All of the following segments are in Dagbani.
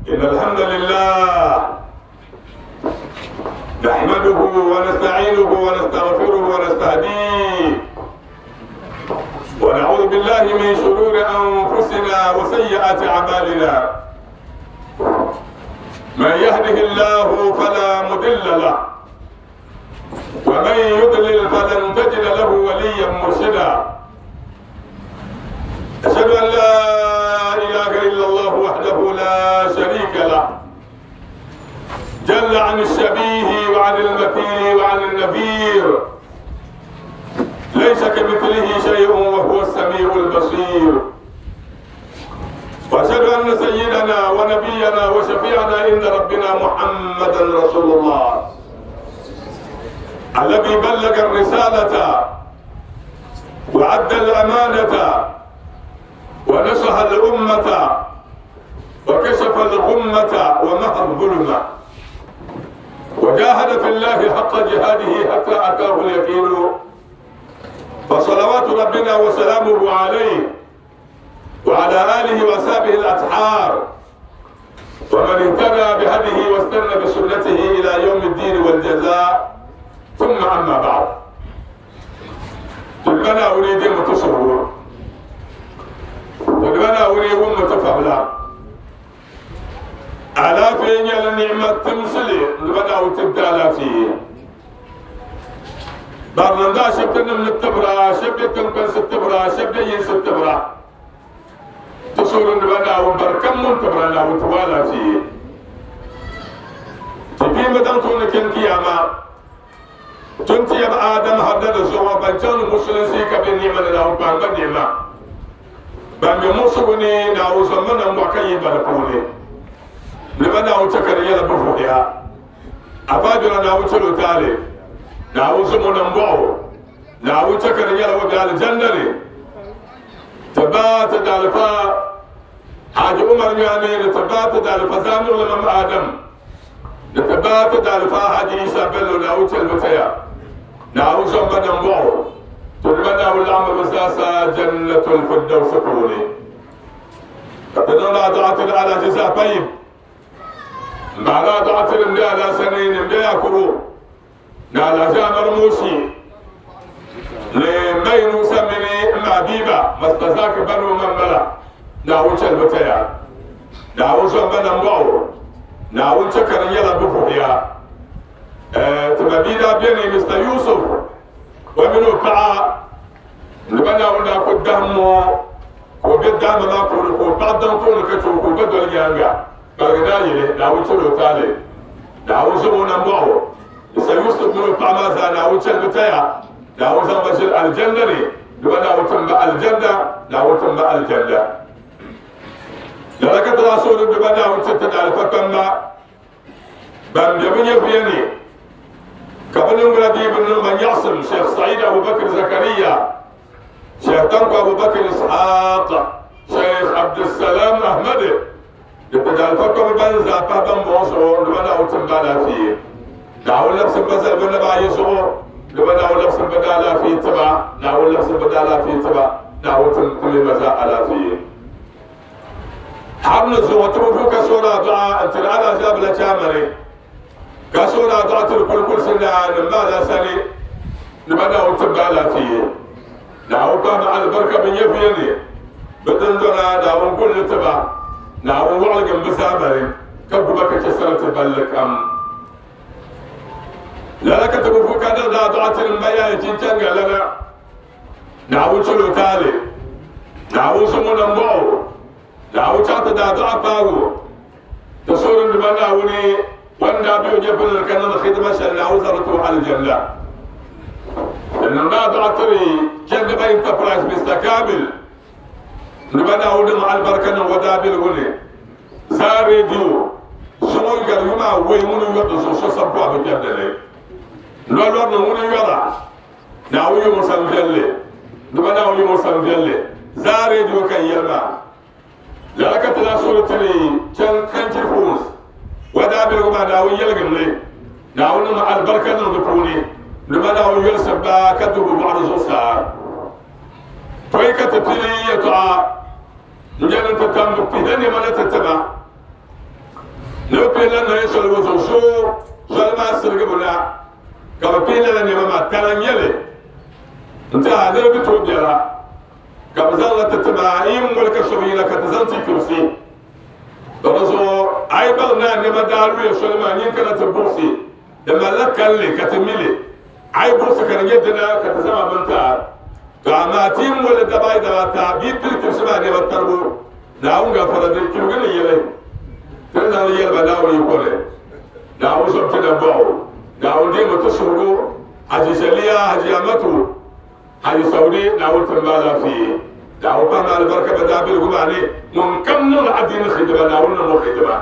إن الحمد لله نحمده ونستعينه ونستغفره ونستهديه، ونعوذ بالله من شرور أنفسنا وسيئات أعمالنا. من يهده الله فلا مضل له، ومن يضلل فلن تجد له وليا مرشدا. أشهد أن لا إله إلا الله وحده لا شريك له، جل عن الشبيه وعن المثيل وعن النذير، ليس كمثله شيء وهو السميع البصير. وأشهد أن سيدنا ونبينا وشفيعنا عند ربنا محمدا رسول الله، الذي بلغ الرسالة وعد الأمانة ونصح الأمة وكشف الغمة ومحى الظلمة، وجاهد في الله حق جهاده حتى أتاه اليقين. فصلوات ربنا وسلامه عليه وعلى آله وأصحابه الأطهار، ومن اهتدى بهديه واستنى بسنته إلى يوم الدين والجزاء. ثم أما بعد، تلبنا أريد متصور، تلبنا أريد متفضلا على فين النعمة تمثلي تلبنا وتبدا على فيه برندا شبتنا من التبرة شبتنا من التبرة شبتنا من التبرة تصور نبنا وبركم من تبرنا وتوالا فيه تبي مدام تونك كياما تنتي يا آدم هذا الزوا بنجان مسلم سيك بنيمة لا وبان بنيمة بام يمسوني ناوز من أمبكي باركوني نبنا وتكريا لبفويا أفادنا ناوز لتالي ناوز من أمبو ناوز تكريا لبفويا الجنة تبات دالفا حاج عمر يعني تبات دالفا زامر لمن آدم تبات دالفا حاج عيسى بلو ناوز البتيا ناوز من أمبو تلمنا والعمر بساسا جنة الفردوس كوني تدونا دعاة على جزاء طيب معنا دعاة على سنين مديا كرو نالا جامر موشي لمين سمني مع بيبا مستزاك بنو من بلا ناوش البتيا ناوش من أمبو ناوش كريلا بفويا تبديدا بيني مستر يوسف ومنو باع نبنا ولا قدامه وقدام ما كل وبعد طول كتشوف وبدل يانغا برغداي لا وصلوا تالي لا وصلوا نمبو سيوسف منو باع ما زال وصل بتاع لا وصل بشر الجنة نبنا وتم الجنة لا وتم الجنة لكن رسول نبنا وتتدال فكما بام يبني فيني قبل مرادي بن من يعصم شيخ سعيد أبو بكر زكريا شيخ تنكو أبو بكر إسحاق شيخ عبد السلام أحمد يبدأ الفكر بنزا بابن بوصو لبنا وتنبالا فيه نعول لبس بزل بنبا يسوع لبنا ولبس بدالا فيه تبع نعول لبس بدالا فيه تبع نعول تنكل مزا على فيه حرن زوتو فوق سورة دعاء انت الآن جاب لجامري كسورة دعاء كل كل سنة نبالا سنة نبدا وتبالا فيه نعو كان على البركة من يفيني بدن دونا نعو كل تبع نعو وعلق بسامري كبك كسرة تبلك أم لا لك تبفو كان دعاء المياه جنجان لنا نعو شلو تالي نعو سمو نمبو نعو شات دعاء باغو تصور نبنا وني وانا بيو جبل كان الخدمة شلنا وزرته على الجنة لأن النادع تري جنب انتربرايز مستكامل نبنا ودم على البركة ودابل ولي زاري ديو سمو يقريما ويمونو يردو سو سبوا بجنة لولو نمونو يرى ناوي مسنجلي نبنا وي مسنجلي زاري ديو كان يلما لك تلاسول تري كان كان فوز ودابل وما ناوي يلقم لي ناوي مع البركة نقولي لما ناوي يلسب كتب بعض الزوسار تويكة تبلي يتعا نجل تتم بهني ما نتتبع Ni bɛ pili la naya soli ŋɔ zuɣu soo soli maa sirigibu na ka bɛ pili lala nɛma maa tana n-nyɛ li n-ti a niriba bi tooi biɛla ka bɛ zaŋ li ti ti ma yi moli ka so bi yina ka ti zaŋ ti kurisi to di zuɣu a yi baŋ ni a nɛma daa luya soli maa nyin kana ti buɣisi di malila kalinli ka ti mi li a yi buɣisi ka di nyɛ dina ka ti zaŋ a bini ti a to amaa ti yi moli dabaayi dabaata bia pili kurisi maa nɛma taribu Naawuni gafara din chirigi ni yɛli, Ti ni zaŋ li yɛli ba Naawuni yiko ni, Naawuni zom ti nambɔɣu, Naawuni deemi ti suhigu, Haji Zaliya, Haji Amatu, Haji Saudi, Naawuni tim ba alaafee, Naawuni pahimi alibarika bɛ daabiligu maa ni, ŋun kam niŋdi adiini xidima, Naawuni niŋm o xidima,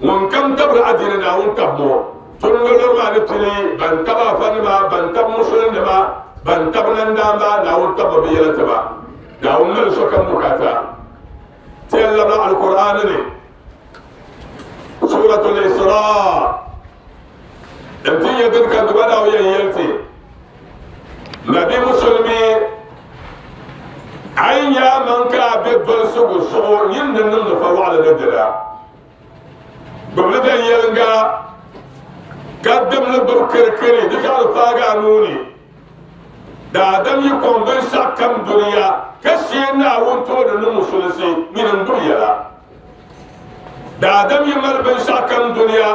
ŋun kam tabiri adiini, Naawuni tabim o. Tuŋgolor maa ni pili ban tabi afanima, ban tabi musulinima, ban tabi nandaamba, Naawuni tabimi bɛ yɛla ti ba. Naawuni mali sokam bukaata. Ti yɛn labila Alkur'aani ni, Suratul Isra, n-ti nya din ka Duba Naawuni yɛn yɛli ti, Nabi Musulimi, a yi nya a maŋ ka a be dolsigu zuɣu nyin ni niŋdi fawaɣili ni dina, gbubili viɛnyɛliŋga ka dimli gbubi kirikiri di zaɣili faagi a nuu ni. Daadam yi kɔŋ binshɛɣu kam dunia ka shee Naawuni tooni ni musulinsi nyini n-gbubi yɛla. Daadam yi mali binshɛɣu kam dunia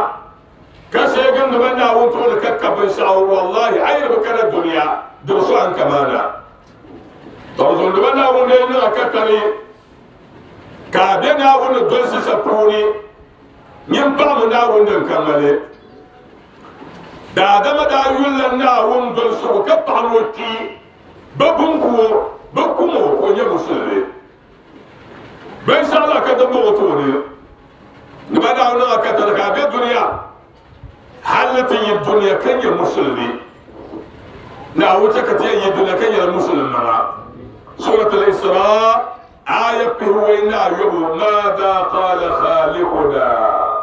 ka shee gindima Naawuni tooni ka ka binshɛɣu, wallahi a yi di bi kana dunia di bi so a ni kamaana. Tɔɣizundima Naawuni lee niŋ a ka tari ka a be Naawuni ni dolisi shɛb puuni, nyin paɣimi Naawuni din ka ŋmali. Daadama daa yulila Naawuni dolisigu ka paɣi ni o kpi bɛ bunku o, bɛ kum o ka o nyɛ musulimi. Binshɛɣu la ka din bɔŋɔ tooni ni ba daa niŋ a katari ka a be dunia hal ni ti yi dunia ka nyɛ musulimi. Naawuni chɛ ka ti yɛn yi dunia ka nyɛla musulim maŋa. Surat al-Isra aya pihiwei ni ayobu, Maada qaala khaliquna?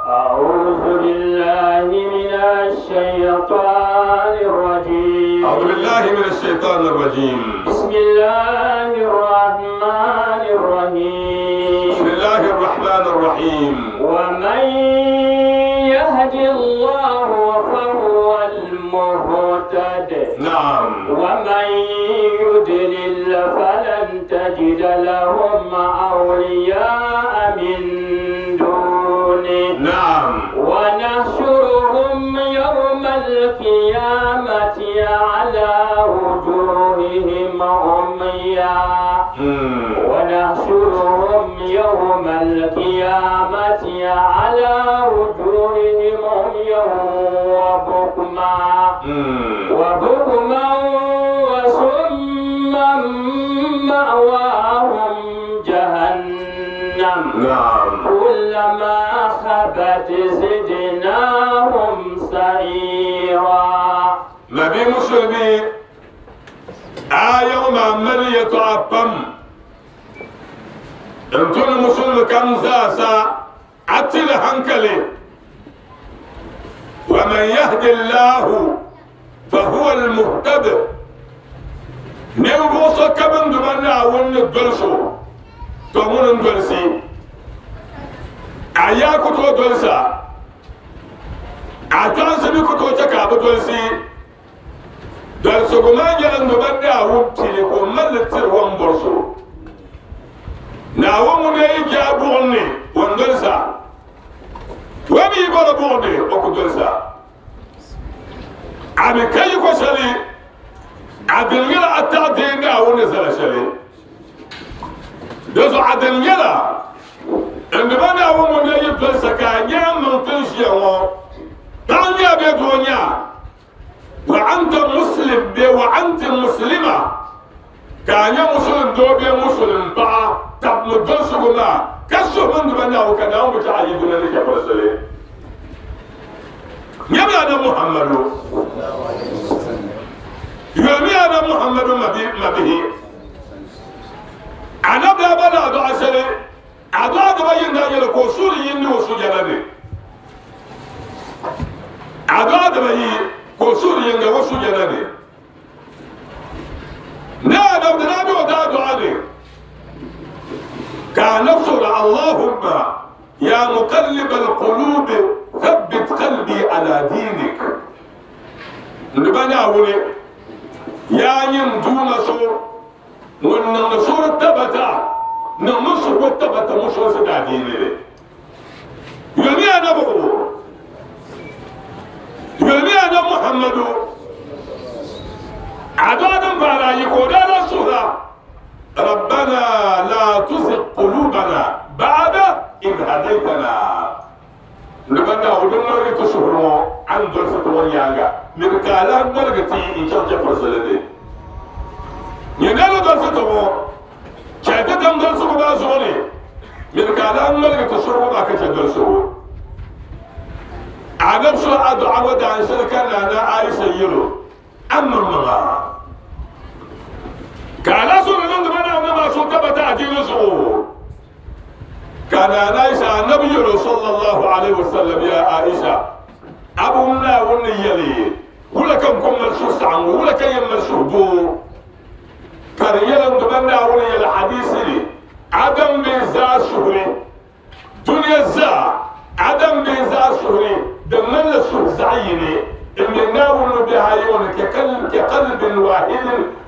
أعوذ بالله من الشيطان الرجيم. أعوذ بالله من الشيطان الرجيم. بسم الله الرحمن الرحيم. بسم الله الرحمن الرحيم. ومن يهد الله فهو المهتد. نعم. ومن يضلل فلن تجد لهم أولياء من دونه. نعم. ونحشرهم يوم القيامة على وجوههم عميا. ونحشرهم يوم القيامة على وجوههم عميا وبكما وبكما وصما مأواهم جهنم. نعم. كلما خبت زدناهم سعيرا. نبي مسلمي آية ما ملي تعبم انتون مسلم كم زاسا أتل هنكلي. ومن يهد الله فهو المهتد. نيوغوصا كمن دمنا ون الدلسو تومون الدلسي أياكو تو دلسا أتانسبي كتو تكاب دلسي دلسو ما يلن دمنا ون ملتر ون برسو ناوم نيجا بورني ون دلسا ومي بولا بورني وكو دلسا أبي كي كشلي عدل التعدين أو نزل شلي دزو عدل يلا عندما نعوم من يجب تلسكا نعم من تنشي تعني بيتونيا وأنت مسلم بي وأنت مسلمة كان مسلم دو بي مسلم با تب مدرسكما كسو من دمنا وكنا متعيدون لك فرسلي يبقى أنا محمد يومي أنا محمد ما به أنا بابا لا أدعى سلي أدعى دبي نانيل كوسوري يني وسجلني أدعى دبي كوسوري يني وسجلني لا أنا بدي أدعى كان نفسه اللهم يا مقلب القلوب. القلوب ثبت قلبي على دينك نبنا ولي يا يم دون سور ونن سور تبتا نمسر وتبتا مش وسد ديني يومي انا بقول يومي انا محمد عدد بارا يقول رسولا ربنا لا تزغ قلوبنا بعد إذ هديتنا نبنا ودنا تشهروا عن درسة ونياغا نبكالا نرغتي إن شاء الله فرسلني نينالو درسة مو شايفة دم درسة بازوني نبكالا نرغتي تشهروا باكش درسة عدم شو أدعى ودعن شركة أنا عايشة يلو أما المغا كالا سورة نندمنا أنما سوى تبتا أجيل سوى كان عائشة النبي صلى الله عليه وسلم يا عائشة أبو منا ونيلي ولا كم كم ملسوس عنه ولا كم يملسوه بو كان يلن دمنا وني الحديث لي عدم بيزا شهري دنيا زا عدم بيزا شهري دمنا لسوه زعيني اللي ناول بها يونك كقلب واحد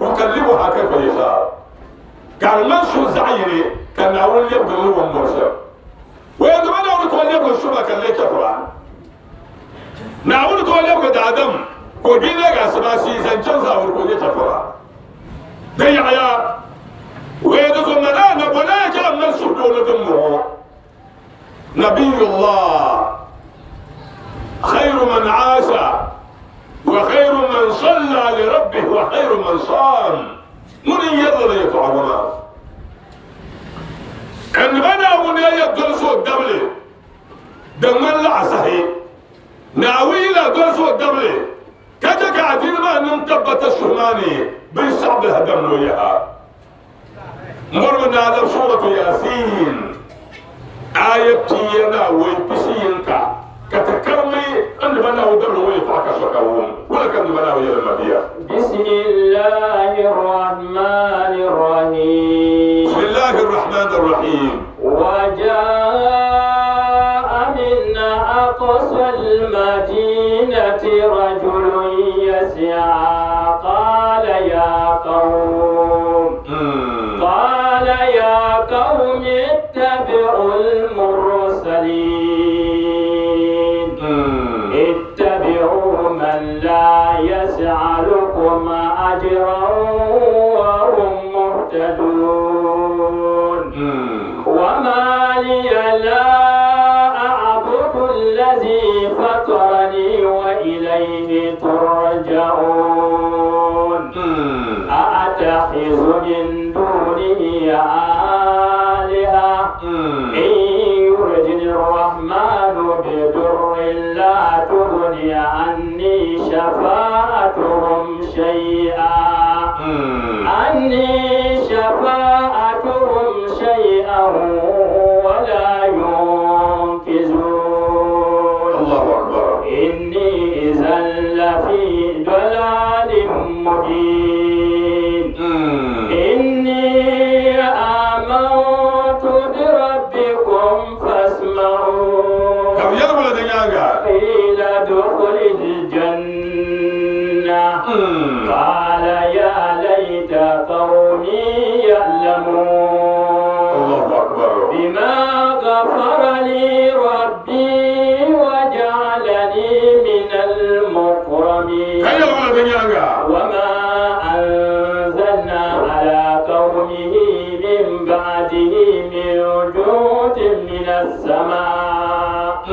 يكلمها كيف يشاء كان منشو زعيني كان أول يبقى هو المرسل ويندما نقول تولي يبقى الشبكة اللي كفرا نقول تولي يبقى آدم كوجينا قاسماسي زنجان زاور كوجي كفرا ضيع يا ويندما منا ولا كلام منشو دون دمه نبي الله خير من عاش وخير من صلى لربه وخير من صام من يضل يطعمنا عندما من يدرسوا الدولة دمن لا صحيح ناويلا درسوا الدولة كذا قاعدين ما ننتبت الشهماني بالشعب هدم وياها مرمنا على سورة ياسين آية تينا ويبسينك كتكرمي أن بنا ودبل ويطعك شكاوهم ولا كان بنا ويلما بسم الله الرحمن الرحيم. بسم الله الرحمن الرحيم. وجاء من أقصى المدينة رجل يسعى قال يا قوم قال يا قوم اتبعوا المرسلين اتبعوا من لا يسألكم أجرا وهم مهتدون وما لي لا أعبد الذي فطرني وإليه ترجعون أأتخذ من دونه آلهة إن يردني الرحمن بضر لا تغني عني شفاعتهم شيئا عني شفاعتهم شيئا ولا ينقذون. الله أكبر. إني إذا لفي ضلال مبين. إني آمنت بربكم فاسمعون. قيل ادخل الجنة قال يا ليت قومي يعلمون. الله أكبر. بما غفر لي ربي وجعلني من المكرمين. وما أنزلنا على قومه من بعده من جود من السماء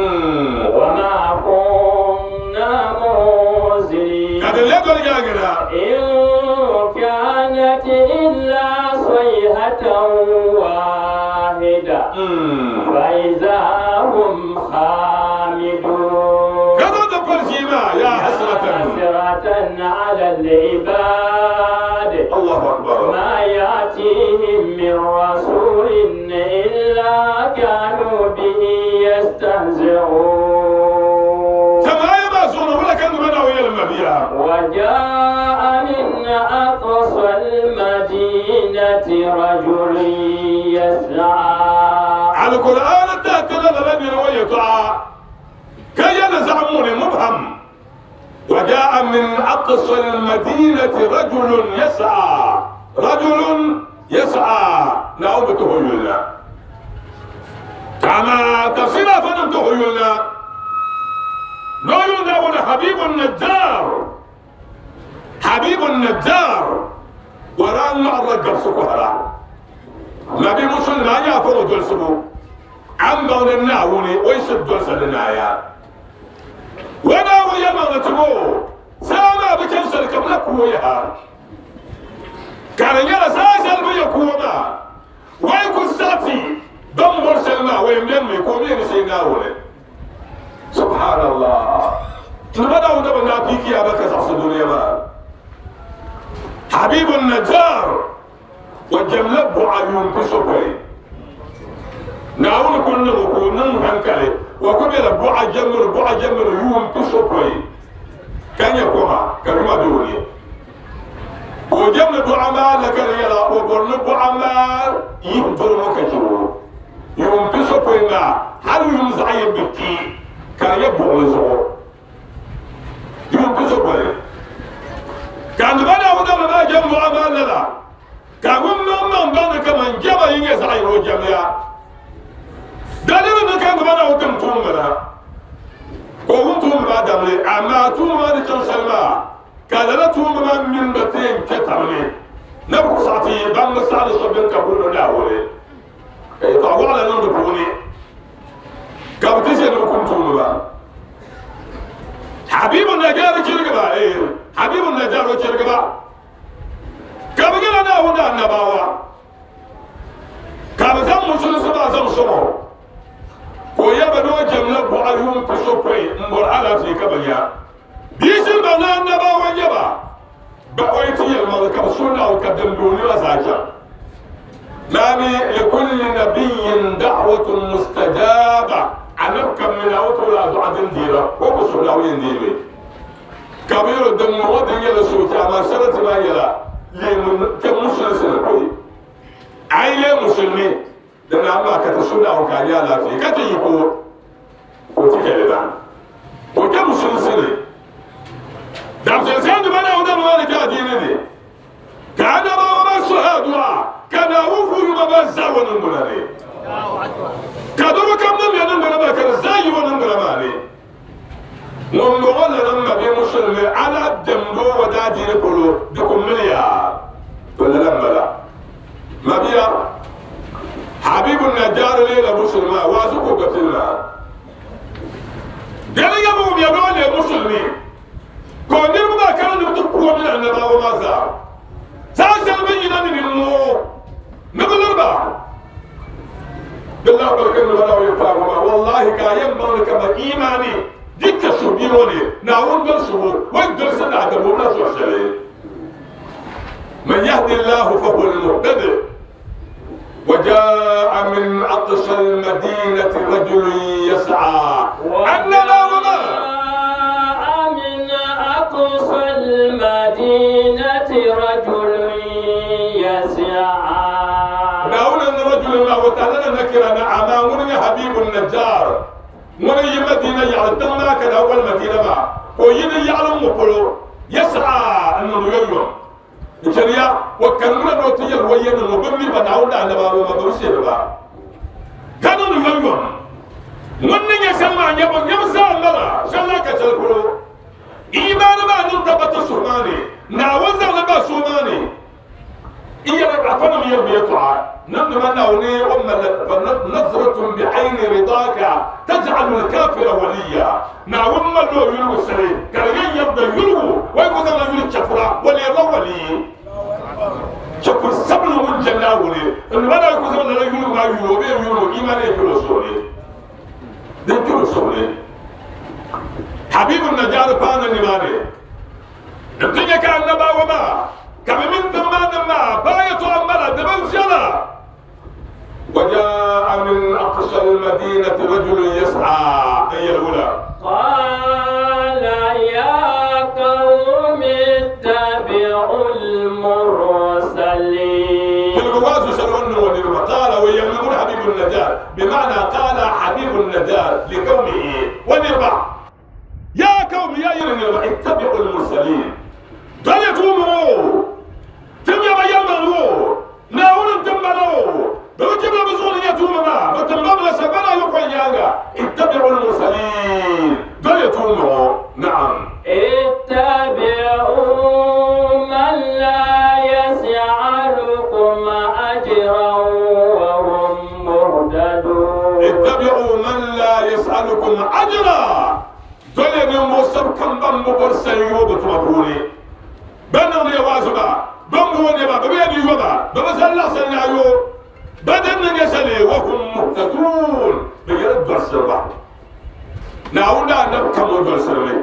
وما كنا منزلين. إن كانت إلا صيحة واحدة فإذا هم خامدون. يا حسرة على العباد. الله أكبر. ما يأتيهم من رسول إلا كانوا به يستهزئون. وجاء من أقصى المدينة رجل يسعى. على القرآن تأتي لنا ويطاع ni zaɣ muni mubham. وجاء من أقصى المدينة رجل يسعى، رجل يسعى نعوم تهيلنا كما تفسير فنم تهيلنا نويلنا ولا حبيب النجار، حبيب النجار وران مع الرجل سكهرا نبي مسلم لا يفرو دلسبو عم بون الناوني ويسد دلسلنا يا وانا ويا ما نتبو ساما بكنسل قبل كويها كان يرى ساسل بيكوما ويكون ساتي دمبر سلما ويملم يكون سيناوني سبحان الله تبدا ودبنا فيك يا بكر صدوري ما حبيب النجار وجملب عيون كسبري ناول كل ركون هنكلي وكبر بوع جمر بوع جمر يوم كسبري كان يقوم كلمة دوني وجمل بوع ما لك يلا وقرن بوع ما يهدر مكجو يوم كسبري ما هل يوم زعيم بكي كان يبغى زو يوم كسبري كان بنا وده ما جنب ما لا كان من بنا كمان جاب يجي زعيم وجميع دليل إنه كان بنا وتم تومنا وهم توم ما دملي أما توم ما نشان سلمى كان لا توم ما من بتين كتملي نبغى ساعتي بام ساعة شبين كبرنا لا ولي طبعا على نندبوني كابتشي نبكم توم ما حبيب النجار كيرجع إيه حبيب النجار كيرجع كابجلا نا ودا نباوا كابزام مسلم سبعة زم سمو ويا بدو جملة بعيون كسوبري مبر على في كبنيا بيسر بنا نباوا يبا بقيتي الملك بسونا وكدم دوني وزاجا مامي لكل نبي دعوة مستجابة أنا كم من أوتو لا دعاء ديرا وبسونا وين كبير الدم ودن يلا سوتي أما شرط ما يلا لأن كم مسلم سنقول عائلة مسلمين لأن أما كتسونا وكان يلا في كتيجو وتكلم وكم مسلم سنة دام سنة بنا ودم ما نكادين دي كان ما ما سهادوا كان أوفو ما بزا ونقولني كادو كم نم ينقول ما كان زاي ونقول ما لي نقول لنا بي مسلم على دمو ودادي نقولو دكم مليار ولا لما لا ما بيا حبيب النجار ليلة مسلمة وازكو قتلنا قال يا ابو يا يا مسلمين كونير ما كان نتقوى من النبا وما زار ساشل بينا من المو نقول الاربعه بالله بركة ولا يفهم والله كايم بارك ما ايماني ديك سبيوني ناون درسو وين درسنا عدم ولا سوشلي من يهدي الله فهو المهتدي وجاء من أقصى المدينة رجل يسعى أننا وما من أقصى المدينة رجل يسعى ناونا الرجل ما وتعالى نكرنا أمامنا حبيب النجار من مدينة يعلم ما كان أول مدينة ما وين يعلم مقولو يسعى أنه يوم الشريعة وكلمنا نوتي الوين المبني بناونا على بابا ما بوشي بابا كانوا يوم من يسمع يبغى يمسح مرة شلا كشلكلو إيمان ما ننتبه سوماني ناوزع لبا سوماني إيه أفهم يبي نحن من أولي أم نظرة بعين رضاك تجعل الكافر وليا نعم لو يلو سري كان يبدا يلو ويقول أنا يلو شفرة ولي الله ولي شفر سبل من جنة ولي إن أنا يقول أنا يلو ما يلو بي يلو إيمان يلو سوري ده يلو سوري حبيب النجار بانا نماني نتيجة كان نبا وما كم من ثمان ما باية أملا دبل جلا وجاء من أقصى المدينة رجل يسعى أي الأولى قال يا قوم اتبعوا المرسلين الغواز سرون ونرمى قال ويمنون حبيب النجار بمعنى قال حبيب النجار لكونه ونرمى yɛlba ittabi'u al-mursalin dɔle tuumu tim yaba yɛlmaŋ o Naawuni n-tim ba na o bɛ bi jibila bɛ zuɣu ni nyɛ tuuma maa bɛ tim ba mi la sagbana ayopɔin nyaaŋa ittabi'u al-mursalin dɔle tuumu ŋɔ na'am. Ittabi'u man la yas'alukum ajran wa hum muhtadun. Ittabi'u man la yas'alukum ajra dɔle ninvuɣ shɛb kam ban bi bɔri sanyoo bɛ tuma puuni bɛn niŋdi ya waazu maa bɛn booni ba bɛ bi yɛn di yo ba bɛ bi zali laɣisili ni ayo bɛ din ni nyɛ shɛli wa hum muhtadun bɛ nyɛla dɔlisiriba Naawuni daa nabi kam o dɔlisirimi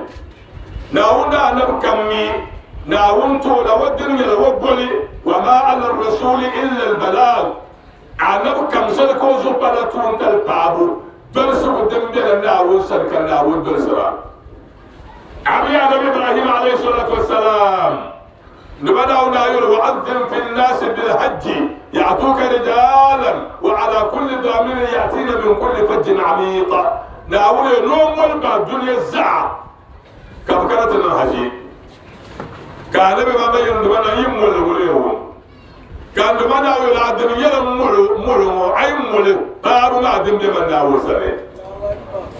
Naawuni daa nabi kam mi Naawuni toola o dini nyɛla o goli wa ma ala rasuli illa albalag anabi kam sani ka o zuɣu pala tuuntali paabu dolisigu din bela Naawuni sani ka Naawuni dolisira. Abi Anabi Ibrahim alayhi salatu wassalam ni ba Naawuni daa yɛli wa'adhin fi nnasi bilhajji ya'tuka rijalan wa ala kulli damirin ya'tina min kulli fajjin amiq. Naawuni yɛli ni o moli ba dunia zaa ka bɛ kana ti niŋ haji. Ka Anabi maa yɛli ni ba na yi moli wuli o. Ka n Duuma Naawuni a dim yɛli m molo ŋɔ, a yi moli paabu maa din be man Naawuni sani.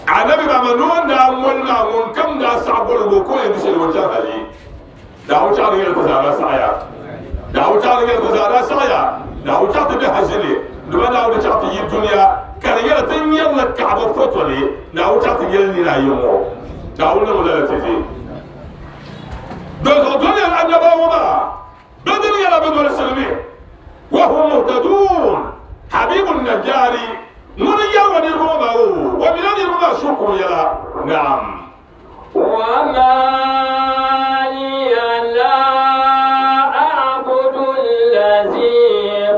Anabi maa ni o ni daa moli maa, ŋunkam daa saɣi boligu o ka o yɛn di shɛli o chaŋ hali. Naawuni chaɣ di yɛli ti zaa daa saɣiya. Naawuni chaɣ di yɛli ti zaa daa saɣiya. Naawuni chaɣ ti be haʒi ni. N Duuma Naawuni chaɣ ti yi dunia ka di nyɛla ti nyarila Kaɣaba foto ni. Naawuni chaɣ ti yɛli nina ayi ŋɔ. Naawuni niŋ lala ti ti. Dinzuɣu doliya annabawa maa. Bɛ dini nyɛla bɛ dolsiri mi, wa hum muhtadun, Habibu Najari ŋuni n-yɛri o niriba ŋɔ maa o, o mila niriba maa suhukum yɛla, Naam. Wa ma liya la a'budu allazi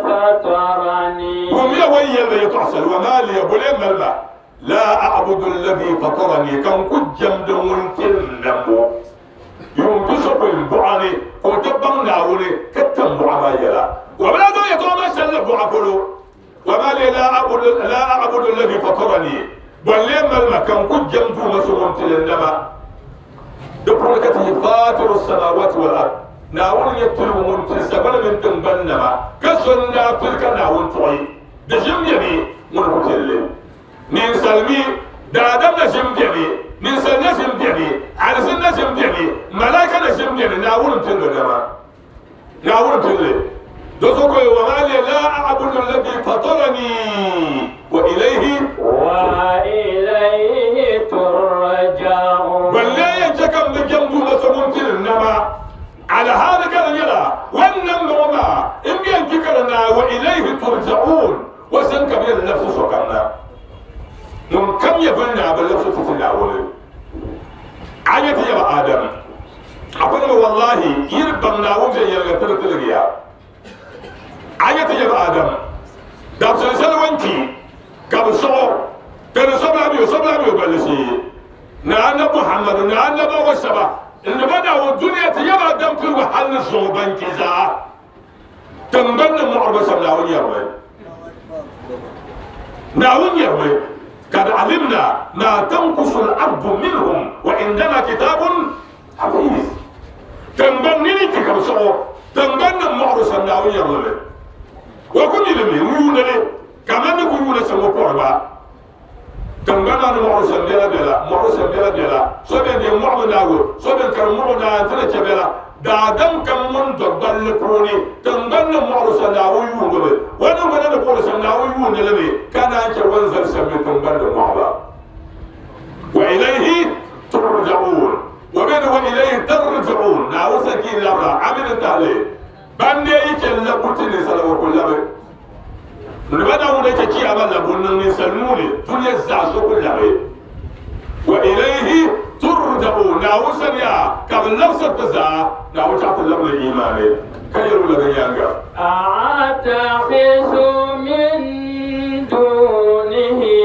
fatarani. Wummiya o ni yɛli ba yɛtɔɣ shɛli, wa ma liya, boli m-mali ma, la a'budu allazi fatarani, ka n ku jɛmdi ŋun kpiri n nambu. Yuun pisopɔin buɣa ni ka o ti baŋ Naawuni ka tam buɣa maa yɛla. O bi lahi zaŋ yɛtɔɣa maa shɛli la buɣa polo, Wa ma li la a'budu alladhi fatarani, bɔ n-lee mali ma ka n ku jɛm Duuma so ŋun pili n nama? Di puuni ka ti yi Faatiru samawati wal ard, Naawuni n-nyɛ piligu ŋun pili sagbana mini tiŋgbani nama, ka so n-daa pili ka Naawuni tuɣi di ʒim beni ŋuni ku pili li. Ninsal mi, daadam na ʒim beni, ninsal na ʒim beni, alizin na ʒim beni, malaika na ʒim beni, Naawuni m-pili li dama. Naawuni m-pili li. Di zuɣu ka o yɛli, Wa ma li la a'budu alladhi fatarani wa ilayhi. Wa ilayhi turja'un. Ban lee yɛn chɛ ka m bi jɛm Duuma so ŋun pili n nama. Alhaali ka di nyɛla, wannan ŋɔ maa m bi yɛn kpi ka di naai, wa ilayhi turja'un. O sani ka bɛ yɛn labisi sokam na. Ŋun kam nyɛ bini naa, bɛ labisi ti ti Naawuni. A nya ti yaba Adam, a ku nima wallahi yi di baŋ Naawuni viɛnyɛliŋga ti di tiligi ya. A nya ti yaba Adam, dabisili shɛli o ni kpi ka bɛ sɔɣ o, ka di sobila mi o, sobila mi o balli shee. Ni Annabi Muhammadu ni Annabawa shɛba n-di ba Naawuni dunia ti yaba Adam piligu hali ni zuŋɔ ban kpi zaa. Tiŋgbani ni mɔɣiri bi shɛm Naawuni yɛrimi. Naawuni yɛrimi, Kad alimna ma tankusu al-ardu minhum wa indana kitabun hafiz. Tiŋgbani ni ni kpi ka bi sɔɣ o, tiŋgbani ni mɔɣiri shɛm Naawuni yɛrimi li. O ku mi li mi n-yuuni li kaman ni ku yuuni shɛm o pɔri gba. Tiŋgbani maa ni mɔɣiri shɛm bela bela, mɔɣiri shɛm bela bela. So bɛn deei mɔɣu mi Naawuni, so bɛn kari mɔɣu Naa nti ni chɛ bela. Daadam kam ŋun do gballi puuni, tiŋgbani ni mɔɣiri shɛm Naawuni yuundi li. O niŋgbuna ni puhiri shɛm Naawuni yuundi li mi, ka naan chɛ o ni zali shɛm mi tiŋgbani ni mɔɣu ba. Wa ilayhi turja'un, o be ni wa ilayhi tarji'un, Naawuni sani ka yi labira, a mi ni tahili. Ban dee yi chɛ labbu ti ninsala o ku labi. Ni ba Naawuni chɛ chiyaama labbu n-niŋ ninsal nuu ni, dunia zaa so ku labi. Wa ilayhi turja'un, Naawuni sani yaa ka bɛ labisiri ti zaa. Naawuni chaɣ ti labili iimaani ka yɛl o la di nyaaŋa. A'attakhidhu min dunihi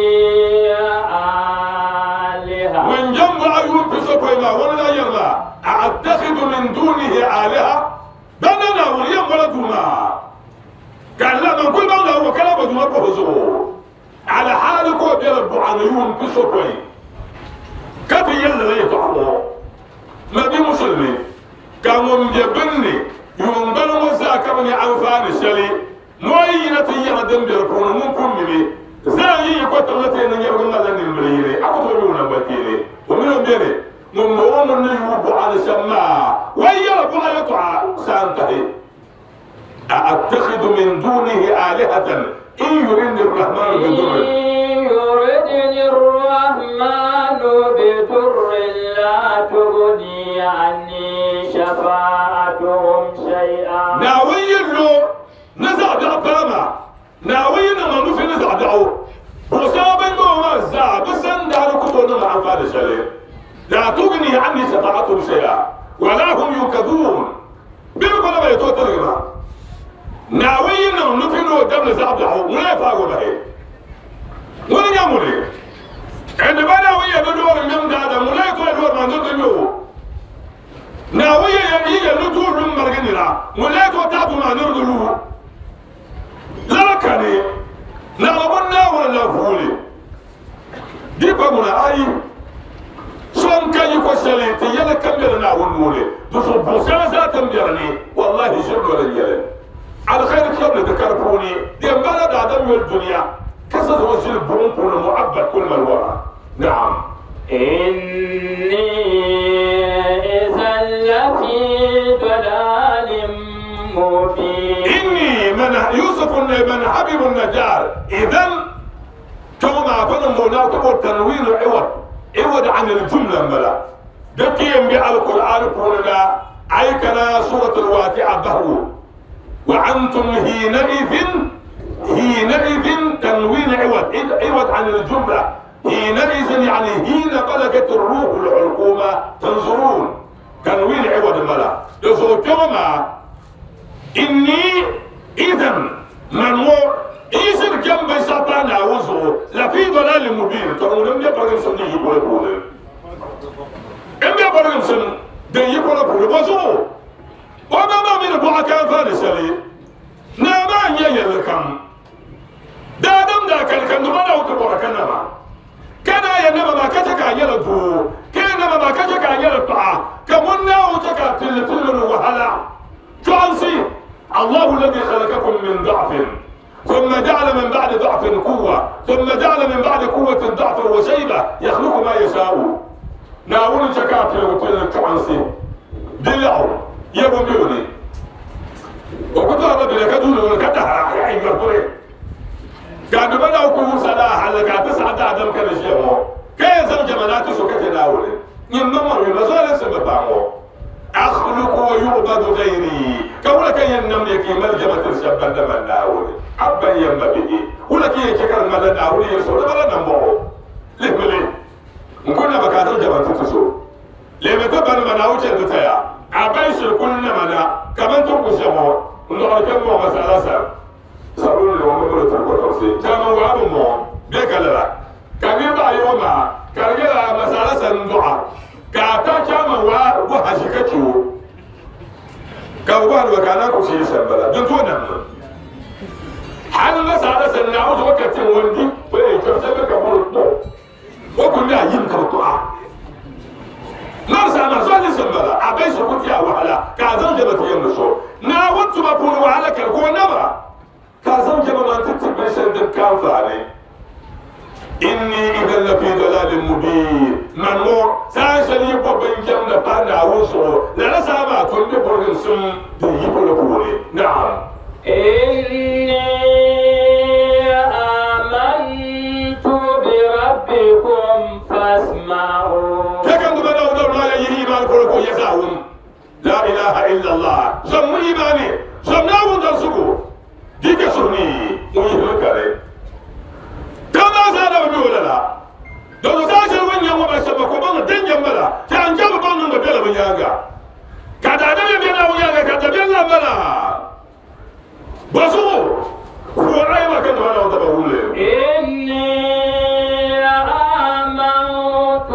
aaliha. Ŋun jɛmbu a yuun pisopɔin maa, o ni daa yɛri maa, A'attakhidhu min dunihi aaliha? Ban na Naawuni yɛn bɔla duu maa, ka n lahi man kuli baŋ Naawuni ka lahi bo duu maa pahi o zuɣu. Alhaali ka o bela buɣa ni yuun pisopɔin ka ti yɛli lala yɛtɔɣa ŋɔ. binni yuŋ bali ŋɔ zaa ka bi nyɛ anfaani shɛli nooyi yina ti yɛɣa din be di puuni ŋun pun mimi zaa yi yi kɔtiŋ ti ni nyɛrigi ŋmalila nimbili yini a ku tooi yuui nangban kpeeni o mini o beni ŋun bɔŋɔ ŋun ni yuui buɣa ni shɛm maa wai yɛla buɣa yɛltɔɣa saa n tahi أأتخذ من دونه آلهة إن يردني الرحمن بضر إن يردني الرحمن بضر لا تغني عني شفاعتهم شيئا ناوي لو نزع دعباما ناوي نما نفي نزع دعو وصابن ما زع بسن دارو كتو نما أنفال شلي لا تغني عني شفاعتهم شيئا ولا هم ينقذون بيقول ما يتوتر ناوي نما نفي نو دم نزع دعو ولا يفاقوا به ولا يامولي عندما ناوي يدور من دادا ولا يدور ما نرجو ناوي يدور من مرجنا ولا يتوتر ما نرجو لا كاني نعلمنا ولا فولي دي بقولنا أي سون كان يكسلي تيلا كم يلنا ونولي دوسو بوسنا زاتم بيرني والله جل ولا يلن على خير كم ذكروني دي بلد عدم الدنيا كسر وجه البرون المعبد كل ما الورى نعم إني إذا لفي ضلال مبين إني من يوسف من حبيب النجار إذا كما فنم هناك تنوين عوض عوض عن الجملة ملا دكيم بالقرآن قولنا أي كان سورة الواقعة بهو وأنتم حينئذ حينئذ تنوين عوض عوض عن الجملة حينئذ يعني حين بلغت الروح الحلقومة تنظرون تنوين عوض ملا كما إني إذا من هو إيسر جنب ساتان عوزه لفي ضلال مبين تقول لم يبرم سن يقول يقول إن يبرم سن يقول يقول وزو وما ما من بوا كان فارسلي نما يلكم دادم دا كان كان ما لو تبورا كان ما كان ينما ما كتك يلدو كان ما كتك يلطع كمنا وتك تل تل وهلا جانسي الله الذي خلقكم من ضعف ثم جعل من بعد ضعف قوة ثم جعل من بعد قوة ضعفا وشيبة يخلق ما يشاء ناول شكاتل وتل جانسي دلعو يبو ميوني وكنت أنا بلكدول ولكتها يعني يقولي كان بنا وكو صلاح على كاتس عدا عدم كان الشيء كي زوج جمالات سكت ناولي ينمر ينزل سببانو أخلق ويعبد غيري كولا كي ينملك ملجمة الشبان دم ناولي أبا يما به ولا كي يشكر ملا ناولي يرسول ملا نمو ليه ملي نكون بكاتر جمالات تسو ليه متبان مناوش الدتيا أبا يشركون منا كمان تركوا نقول كم مو مسألة سر سأقول لهم أمر تركوا توسي كانوا وابو مو بيكلا كمين بعيوما كرجلا مسألة سندعة كاتا كما وا وحشكتشو كوبان وكانا كوشي سبلا دنتونا هل مسألة سنعوز وقت وندي وين كم كبر وكنا يمكن طاعة نرسى نزال سبلا أبي سكوت يا وحلا كازم جبت يمشو نا وانتم أقول وحلا كركو نبا كازم جبت ما تتبع شد كان فاني إني إذا لفي ضلال مبين من هو ساشل يبقى بين جنب بانا وصو لا سامع كل بورن سم يبقى لبوري نعم إني آمنت بربكم فاسمعون لا إله إلا الله زم إيماني زم ناون درسكو ديك سوني ويهلك كما زال بيقول لا دو ساشر وين يوم ما سبق وبان دين جنبلا كان جاب بان بيلا بيانغا كذا دين بيلا ويانغا كذا بيلا بلا بسو هو رأي ما كنت أنا وتبقول إني آمنت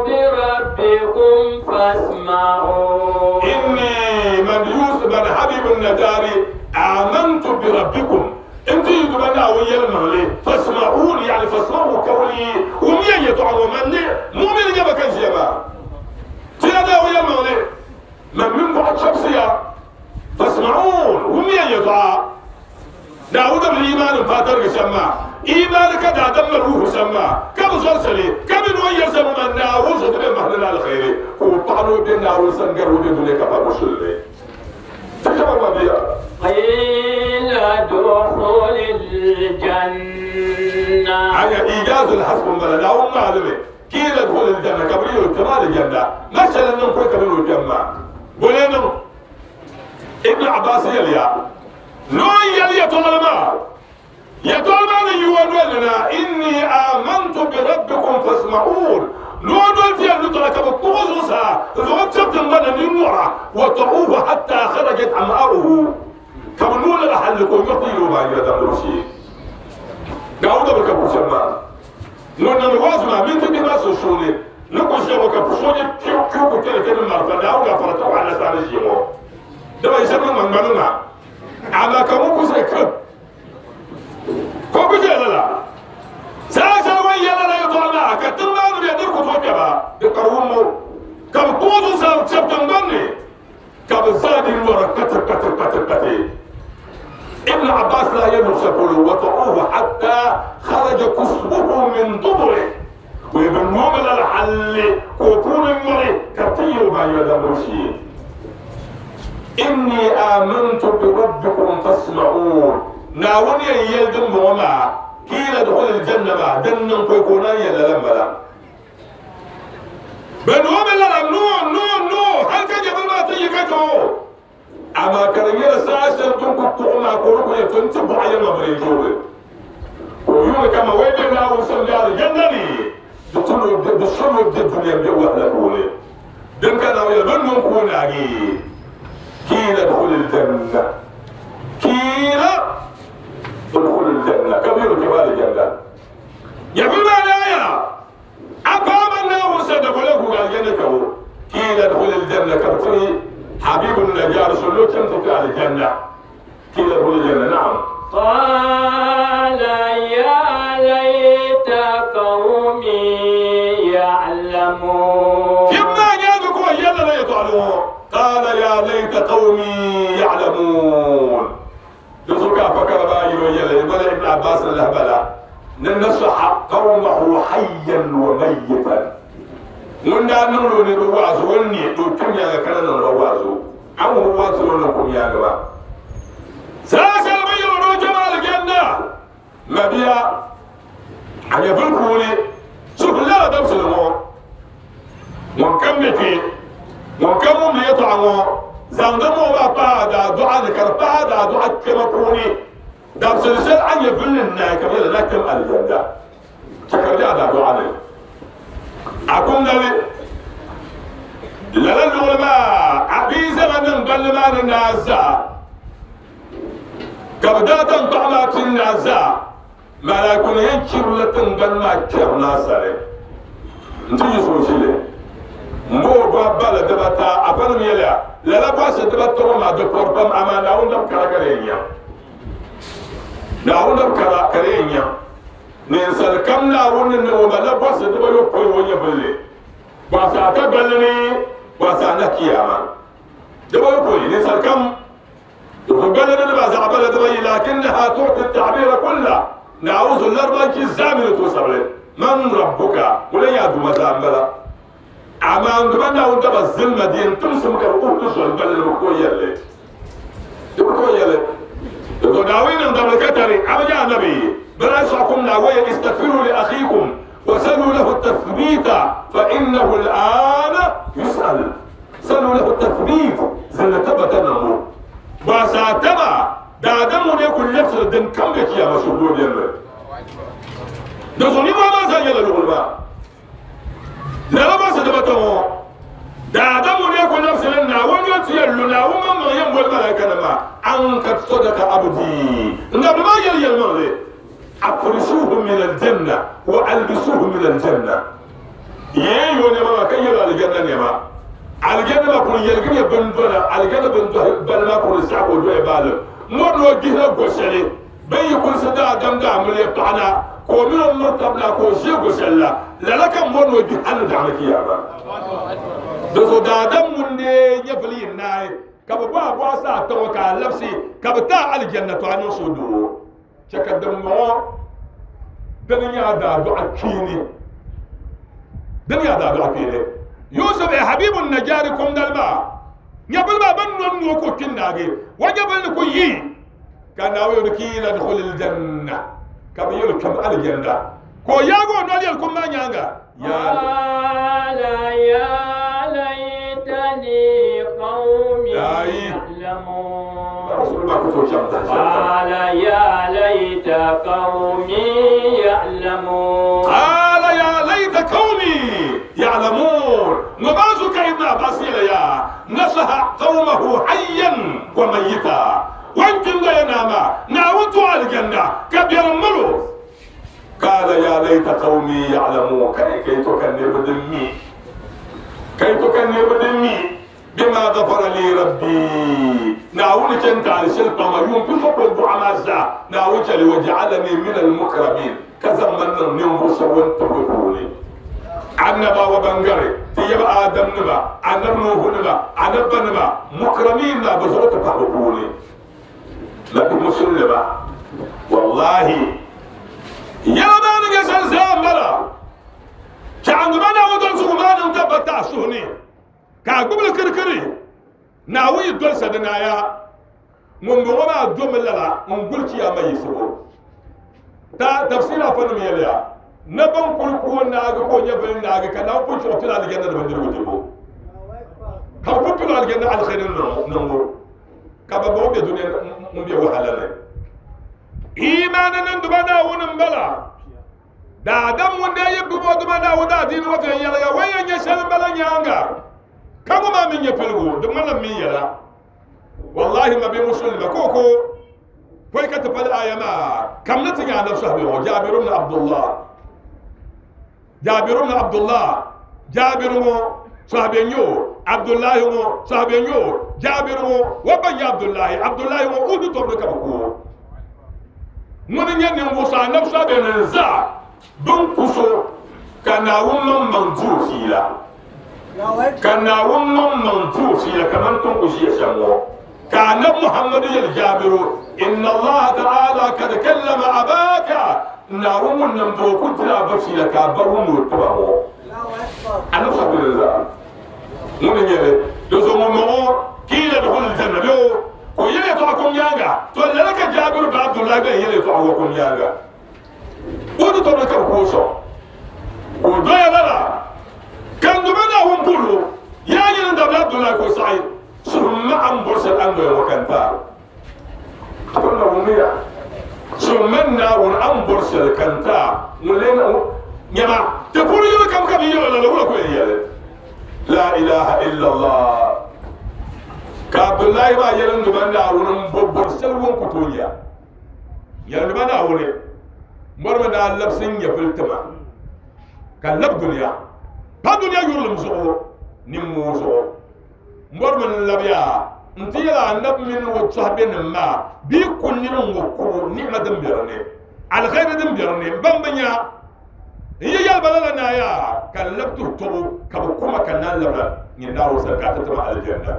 بربكم فاسمعون إني من يوسف بن حبيب النجاري آمنت بربكم انت يدبنا ويا المغلي فاسمعوني يعني فاسمعوا قولي ومين يدعو مني مؤمن يبقى كان جيبا تيادا ويا المغلي من من بعد شخصية سما كم زرسلي كم نوير سما ناوز بمهل الخير وطعنوا بنا وسنقر وبدون كفا مشلي تكبر بيا قيل ادخل الجنة على إيجاز الحسب بلا لا هم معلمة قيل ادخل الجنة كبريل كمال الجنة مثلا نقول كبريل الجنة بولينو ابن عباس يليا نو يليا طالما يا طالما يقول لنا إني آمنت بربكم فاسمعون نو في اللطرة كبطوزوسا زوجت من النورة وطعوه حتى خرجت أمعاؤه كمنون لحلكم يطيروا ما يدمرشي داود بكبوشما نون الوازما من تبي ما سوشوني نكوشي وكبوشوني كيو كيو كتير كتير مرة داود فرتو على سارجيمو دابا يسمى من منونا على كم كوسك كوكوشي لا ساسا ويا لا يطلع كتما نبي كتوكبا بقرومو كم كوزو سام شبتن بني كم زاد الورا كتر كتر كتر كتر ابن عباس لا يملك وطعوه حتى خرج كسبه من دبره وابن مؤمن الحل كوكون المري كتير ما يدمرشي إني آمنت بربكم فاسمعون ناوني يلدم وما قيل ادخل الجنة ما دنن كوكونا يلا لما لا بنوم لا نو نو نو هل كان يبغى ما تيجي أما كان يرسل تنكو ما كوركو يتنتبه على ما بريجوه ويقول كما وين لا وصل على الجنة دخلوا دخلوا الدنيا بيوه لكولي دم كان يظنون كوناجي قيل ادخل الجنة قيل ادخل الجنة كبير كبار الجنة يقول ما لا يا أقام الله صدق له الجنة قيل ادخل الجنة كبتني حبيب النجار سلوك تمتك على الجنة قيل ادخل الجنة نعم قال يا ليت قومي يعلمون كما جاءكم يلا لا يطعلون قال يا ليت قومي يعلمون يزكى فكر بايرو يلا يقول ابن عباس الهبلة ننصح قومه حيا وميتا من نمرو نرواز وني دوكم يا كان نرواز أو رواز ونكم يا جماعة ساسل بيرو جمال الجنة مبيا أنا في الكولي شوف لا دبس المو من كم بكي من كم من يطعمو زندمو ما بعد دعاء ذكر بعد دعاء كما كوني دبس السل عن يبل الناك يلا لكم الجنة شكر جاء دعاء أكون ذلك لا العلماء أبي زمن بل ما الناس كبدات طعمات الناس ما لا يكون ينشر لتن بل ما كرنا سري نتيجة سوشيلي مو بابا دبتا أفهم يلا لا باس دبتا ما دكتور أما نعود كراكرينيا نعود كراكرينيا ننسل كم نعود نوم لا باس دبا يقوي ويبلي باس أتبلني باس أنا كياما دبا يقوي ننسل كم يقبلنا باس عبلا دبا لكنها تعطي التعبير كله نعوذ الأربعة كزامل توصل من ربك ولا يعدو مزاملا أما عندما وانت بزلمة دين تمسك الأوتوس بل الركوية اللي الركوية اللي داوين عند الكتري أبدا النبي بل ناوية استغفروا لأخيكم وسلوا له التثبيت فإنه الآن يسأل سلوا له التثبيت زل تبت نمو وساتما دادمو يكون نفس الدم كم بك يا مشهور يلا دزوني ما ما زال يلا لا ما سدبتهم دادمو يكون نفس لنا ونيت يلنا وما ينبغي الملائكة ما أنك صدق عبدي نبي ما يلي المغرب أفرسوه من الجنة وألبسوه من الجنة يا ما كي يلا الجنة يا الجنة ما كل يلقي بندونا الجنة بندوه بل ما كل ساعة ودوه بالو مر وجهنا قشري بي كل سدا دم دام اللي بتاعنا كومين مرتبنا كوشي قشلا لا لك مر وجهنا دعمك يا ما دزو دادم من يفلي الناي كبوا بواسا توكا لبسي كبتا الجنة عن صدور شكدم مو Dini nyɛ a daadɔɣa kpeeni. Dini nyɛ a daadɔɣa kpeeni. Yusuf e Habibu Najari kum dali maa, nyɛvili maa bɛn nɔ n-noo ka o kpi n-naagi, o nyɛvili ni ku yi. Ka Naawuni yɛli kiila dkhulil janna, ka bɛ yɛli kpɛm alijanna. Ka o yaagi o noli yɛli kum maa nyaaŋa, Yaa. Qala ya laytani qawmi ya'lamun. Qala ya layta qawmi ya'lamun. Qala ya layta qawmi ya'lamun. Ŋɔ maa zuɣu ka Ibn Abbas yɛli ya, nasaha qawmahu hayyan wa mayyita. O ni kpi n-doya naa maa, Naawuni ti o alijanna ka biɛrim mali o. Qaala ya layta qawmi ya'lamun, kai ka yi to ka niriba din mi, ka yi to ka niriba din mi, bima ghafara li rabbi, Naawuni chɛ n-taali shɛli kpaŋ ma yuun pisopɔin buɣa maa zaa, Naawuni chɛ li wa ja'alani min al-mukramin, ka zaŋ ma niŋ ninvuɣ shɛba o ni tibigi puuni. Annabawa ban gari ti yaba Adam nima, Annabi Nuhu nima, Anabba nima, mukramin maa bɛ zuɣu ti pahi bɛ puuni. La bihi musulima, wallahi yɛla maa ni nyɛ shɛli zaa m-bala. Chaɣindi ma Naawuni dolisigu maa niŋ tabbata a suhu ni, ka a gbubi li kirikiri. Naawuni yi dolisa di naaya, ŋumbɔŋɔ maa domi lala n-guli Chiyaama yiɣisibu. Ta tafsir afanim yɛliya, ni bɛn kul ku o naagi ka o nyɛvili naagi, ka Naawuni pun chɛ o pili alijanna ni bindirigu dibu, ka bɛ pun pili o alijanna aliheri niŋbu. Ka bɛ bɔŋɔ be dunia ŋun be wahala ni. Imaani niŋdiba Naawuni m-bala. Daadam ŋun daa yi gbubi o Duuma Naawuni daadiini ŋɔ viɛnyɛliŋga, o yɛn nya shɛli m-bala nyaaŋa, ka ŋɔ maa mi nyɛ piligu, di ŋmanila m mi yɛla. Wallahi ma bɛ musulima ka o ko pɔi ka ti pali aya maa, kam ni ti nya anabi sahabi ŋɔ, Jabir ibn Abdullah. Jabir ibn Abdullah, Jabir ŋɔ sahabi n-nyɛ o, Abdullahi ŋɔ sahabi n-nyɛ o, Jabir ŋɔ o ba n-nyɛ Abdullahi, Abdullahi ŋɔ Uhudu tɔbu ni ka bɛ ku o. Ŋuni n-nyɛ ninvuɣ so anabi sahabi ni zaa bɛn ku so ka Naawuni maŋmaŋ di o fiila, ka Naawuni maŋmaŋ di o fiila kamani ti ni ku ʒiya shɛm ŋɔ. Ka anabi Muhammadu yɛli Jaabiru, Inna Allaha ta'ala kad kallama abaka, Naawuni ŋun nam ti o kuli tila a ba fiila ka a ba wum o tiba ŋɔ. Anabi sabi ni zaa ŋuni n-nyɛ li, di zuɣu ŋun bɔŋɔ kiila dukhulil janna bee o ka o yɛli yɛtɔɣa kum nyaaŋa, to lala ka Jaabiru ba Abdullahi gba yɛn yɛli yɛtɔɣa ŋɔ kum nyaaŋa. O ni tɔbiri ka bɛ ku o sɔŋ ka o doya lala, ka n Duuma Naawuni bol o, Yaa nyini n dabili Abdullahi, ka o saɣi, Suhum ma a ni bɔri shɛli a ni doya ŋɔ ka n taai. A pun na wummiya, Suhum ma n Naawuni a ni bɔri shɛli ka n taai. Ŋun lee nyama, ti puuni yuli kam ka bɛ yɛl o lala, wula ka o yɛn yɛli? La ilaha illallah. Ka Abdullahi maa yɛli n Duuma Naawuni m bo bɔri shɛli ŋun ku tooi nya. Yɛlima Naawuni, mɔrimi ni a labisi n nyɛvili ti ma, ka n lab dunia, pa dunia yurilim zuɣu nimmoo zuɣu. Mɔrimi n-labiya nti yɛli anabi mini o tɔhibinim maa, bɛ yi ku niri ŋ-ŋɔ kubu ni'ima din be di ni, aliheri din be di ni m-baŋ bɛ nya. N yi yɛli ba lala naaya, ka n lab tuhi tɔbu, ka bɛ ku ma ka n naan labina nyini Naawuni sani ka a ti ti ma alijanna.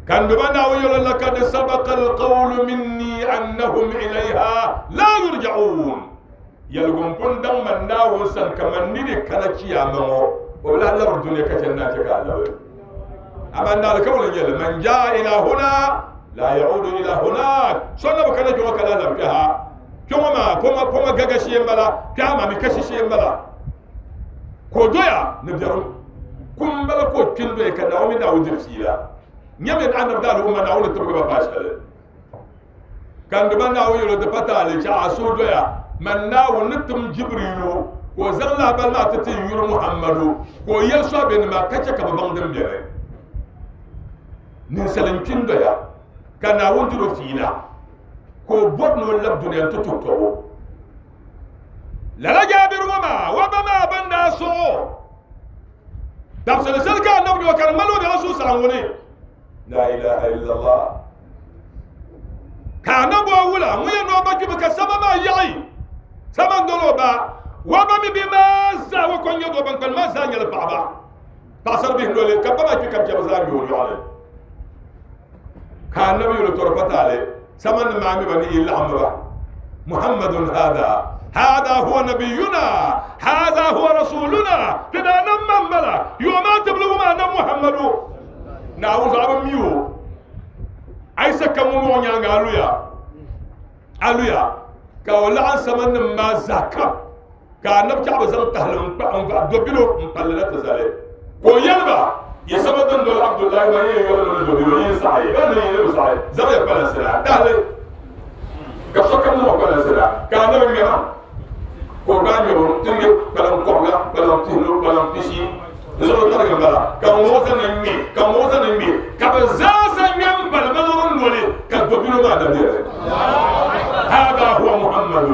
Ka n Duuma Naawuni yɛl o, Lakad sabaqa alqawlu minni annahum ilayha la yurja'un. Yɛligu m-pun daŋ man Naawuni sani kaman ni di kana chiyaama ŋɔ, o bi lahi labiri dunia ka chɛ n-naan chɛ ka a labi. Amaa n daalikauli n-nyɛ li, Man jaa ila huna la ya'udu ila hunak. So na bi kana kpe ŋɔ ka lahi labi kpe ha. Kpe ŋɔ maa poma, poma gaga shee m-bala, kpe ha maa mi kashi shee m-bala. Ka o doya ni biɛrim kum m-bala ka o kpi n-doya ka Naawuni mini Naawuni diri fiila. Nyami ni anabi daali umma Naawuni tibigi ba paai shɛli. Ka n Duuma Naawuni yɛl o, Di pa taali chɛ a suhu doya, man Naawuni ni tim Jibriilu ka o zaŋ lahibali maa ti ti n yuri Muhammadu ka o yɛli sɔhibenima ka chɛ ka bɛ baŋ din beni. Ninsal n-kpi n-doya ka Naawuni diri o fiila ka o bɔri ni o lab dunia nti tuhi tɔbu. Lala Jaabir ŋɔ maa, o ba maa bɛn daa sɔɣ o dabisili shɛli ka anabi nya o ka di ŋmani o bela suhusaɣiŋgu ni. La ilaha illallah. Ka anabi o wula ŋun yɛn ni o ba kpimi ka sama maa yaɣi sama n-doli o ba. O ba mi bihi maa zaa o ko n-nyɛ doo, ban kpalim maa zaa nyɛla paɣaba. Paɣasaribihi noli ka ba maa kpi ka bɛ chɛ bɛ zaa ŋme o yɔɣili. Ka anabi yɛl o tɔri pa taali, sama ni maa mi ba ni yi laɣimmi ba. محمد هذا هذا هو نبينا هذا هو رسولنا تدا نمم بلا يوم تبلغ ما نم محمد نعوذ عبد ميو عيسى كمو نيانغا الويا الويا كولا عن سمن ما زكا كان نبكي عبد زم تهلم دوبيلو مبللات زالي كويلبا يسمى دول عبد الله ما يقول دوبيلو ينصحي انا ينصحي زي بلسلا تهلي كشكم مو بلسلا كان نبي قربان يوم تنجي بلام قرنا بلام تهلو بلام تشي نزول ترك بلا كموزن نمي كموزن نمي كبزاز نم بل بلون نولي كدوبيلو ما دبير هذا هو محمد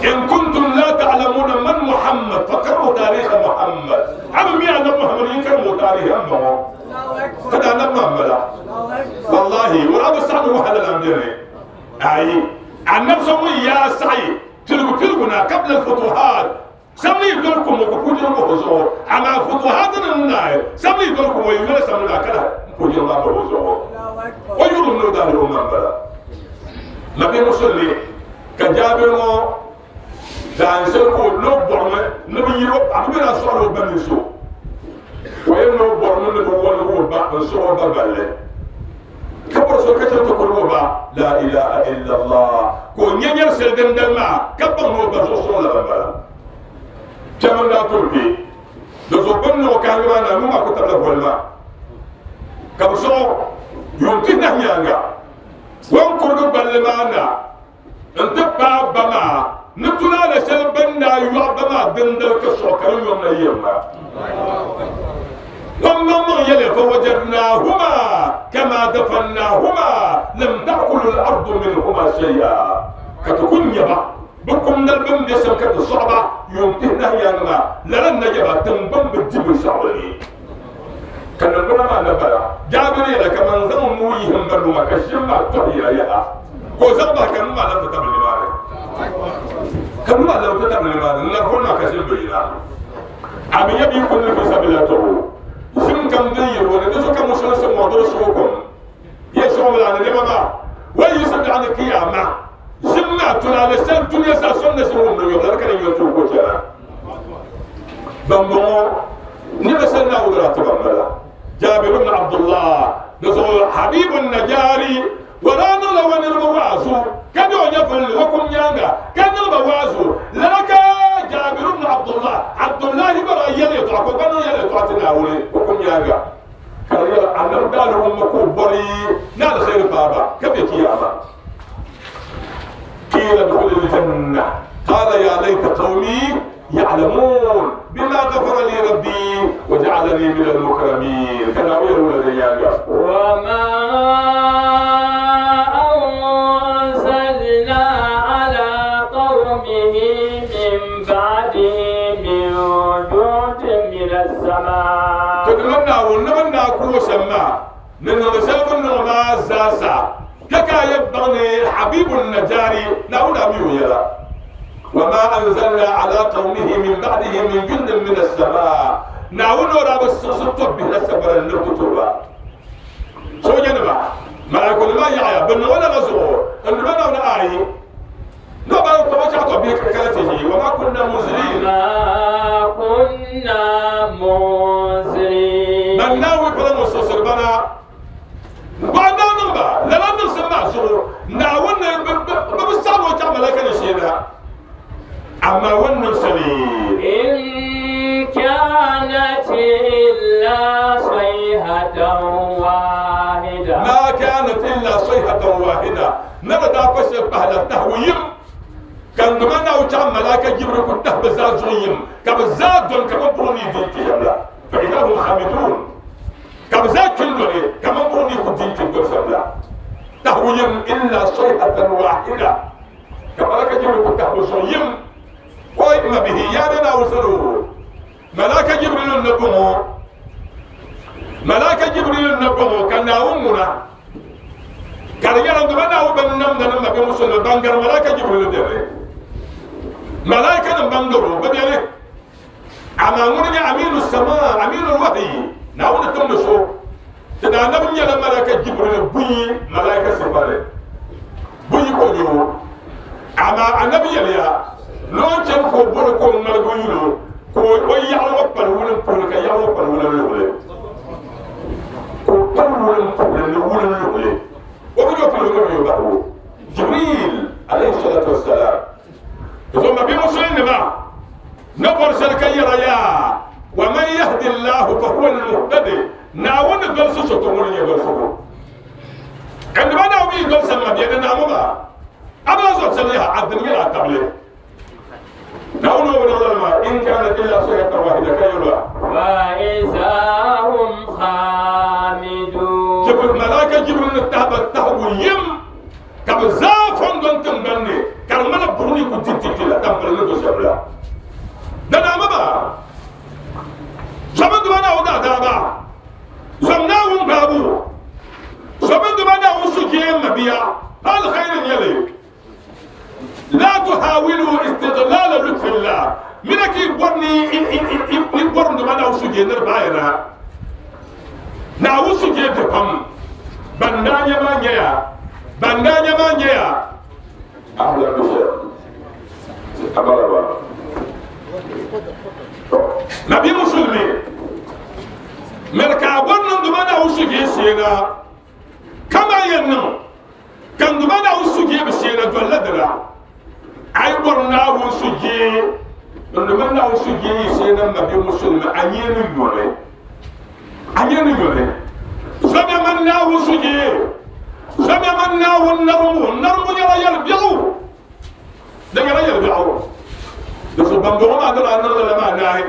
إن كنتم لا تعلمون من محمد فقرأوا تاريخ محمد عم يعلم محمد يكرموا تاريخ أمه فدا نم والله ولا بسعد وحلا الأمدري أي النفس يا سعي تلقوا قبل الفتوحات سمي دولكم وكوجر بوزو أما فتوحات الناي سمي دولكم ويقول سمي كلا كوجر ما بوزو ويقولون نودان الأمم بلا نبي مسلم كجابر دانسل كو لو بورم نبي يرو أبي رسول بنيسو وين لو بورم نبي ولو با نسو بابله كبر سو كتر تقول با لا إله إلا الله كو نينير سلدن دلما كبر نو بزو سو لا بلا كمان لا تركي دزو بن نو كان ما نو ما كتب له ولا كبسو يمكن نيانغا وان كردو بلمانا انت بابا ما نتولا لسل بنا يوابا دندل كسو يوم يوم لما يلي فوجدناهما كما دفناهما لم تأكل الأرض منهما شيئا كتكون يبا بكم نلبم دسم كتصعبة يمتهنا يانا لن نجبا تنبم بالجب الشعري كان نبرا ما نبرا جابري لك من زمويهم بلوما كشما تحيا يا كوزبا كانوا ما لا تتبع لماري كانوا ما لا تتبع لماري نقول ما كشم بينا أبي يبي يكون في سبيل الله زم كم دير ولا نزو كم مسلسل موضوع سوكم يسوع ولا نبى ويسد عن القيامة زم ما تلا لسان دنيا ساسون نسوم نيوم لا كان يوتو كوشنا بمو نبى سنة ولا تبملا جابر بن عبد الله نزو حبيب النجاري ولا نلا ونربوازو كانوا يفعل وكم يانغا كانوا بوازو لك جابر بن عبد الله عبد الله برا يلي تعقب كانوا يلي تعتنا ولي وكم يانغا كانوا أنا قالوا هم كبري نال خير بابا كيف يا قيل ادخل الجنة قال يا ليت قومي يعلمون بما غفر لي ربي وجعلني من المكرمين كان غير الذي وما أنزلنا على قومه من بعده من جند من السماء تدلنا ونمنا كوسما من رسالة ما زاسا كاكا يبغني حبيب النجاري نقول أميو يلا وما أنزلنا على قومه من بعده من جند من السماء نعون رب السلطة به السبر النبتة سو جنبا ما يقول ما يعيا بن ولا نزور أن بنا ولا آي نبى توجعت بك كاتي وما كنا منزلين ما كنا منزلين من ناوي كنا مستوصل بنا بعد نبى لا نسمع زور نعون ببصر وجع ملاك نشينا أما ونرسلين إن كانت إلا صيحة واحدة ما كانت إلا صيحة واحدة نبدا بس بهلا تهويم كان دمنا وجع ملاك جبر كنت بزاد زويم كبزاد دون كمان بروني دين كيلا فإذا هم خامدون كبزاد كندوني كمان بروني كدين كندون تهويم إلا صيحة واحدة كملاك جبر كنت بزويم وإما به يانا وصلوا ملاك جبريل النبوه ملاك جبريل النبوه كان أمنا كان يرى أن وبنم نم بمسلم بانغر ملاك جبريل ديري ملاك نبانغرو بديري أما أمرنا أمين السماء أمين الوحي نعود تمشوا تدعنا بني ملاك جبريل بني ملاك سفارة بني كونيو Amaa anabi yɛliya ni o chani ka o bɔri ka o ŋmaligi o yuli o ka o yaɣili o kpali wulimpuhili ka yaɣili o kpali wulinluhili ka o kpali wulimpuhili ni wulinluhili o bi nyɛ o pili o ni o bahigu Jibril alayhi salatu wassalam zuɣu ma bi musulinima na bɔri shɛli ka yɛra yaa wa man yahdi llahu fa huwa almuhtadi Naawuni ni dolisi so to ŋuni nyɛ dolisigu ɛndiba Naawuni yi dolisi ma bɛ ni naamu maa abila zuɣu sani yaha a dini nyɛla a tabili Naawuni o bi niŋ lala maa in kanat illa sayhatan wahida ka yɛlwa فإذا هم خامدون Jibril malaika Jibril ni tahi ba tahigu yim ka bɛ zaa fɔŋ dɔn tiŋgbani ni ka di ŋmana buɣim ni ku di titi la tampili ni do shɛm la. Danaama maa, zɔmi duma Naawuni daadaaba, zɔm Naawuni gbaabu, zɔmi duma Naawuni sujee mabia, alkhairi n-nyɛ li. La tuhawilu istiglala lutfillah, mina ka yi bɔri ni yi bɔri duma Naawuni sujee ni di baayana. Naawuni sujee be pam, ban daa nya maa nyɛya, ban daa nya maa nyɛya. Ahlan bishɛm, abalaba. Nabi Musulmi, miri ka a bɔri niŋdi ma Naawuni sujee sheena, kaman yɛn niŋ ka n Duuma Naawuni sujee bi sheena dolila dina. A yi bɔri Naawuni sujee, n Duuma Naawuni sujee yi sheena m mabia Musulmi, a nyee ni yoli. A nyee ni yoli. Zomiya man Naawuni sujee, zomiya man Naawuni narimbu. Narimbu nyɛla yɛlibiɛɣu. Di nyɛla yɛlibiɛɣu. Di so bambɔŋɔ maa ni daa niŋ lala maa naai,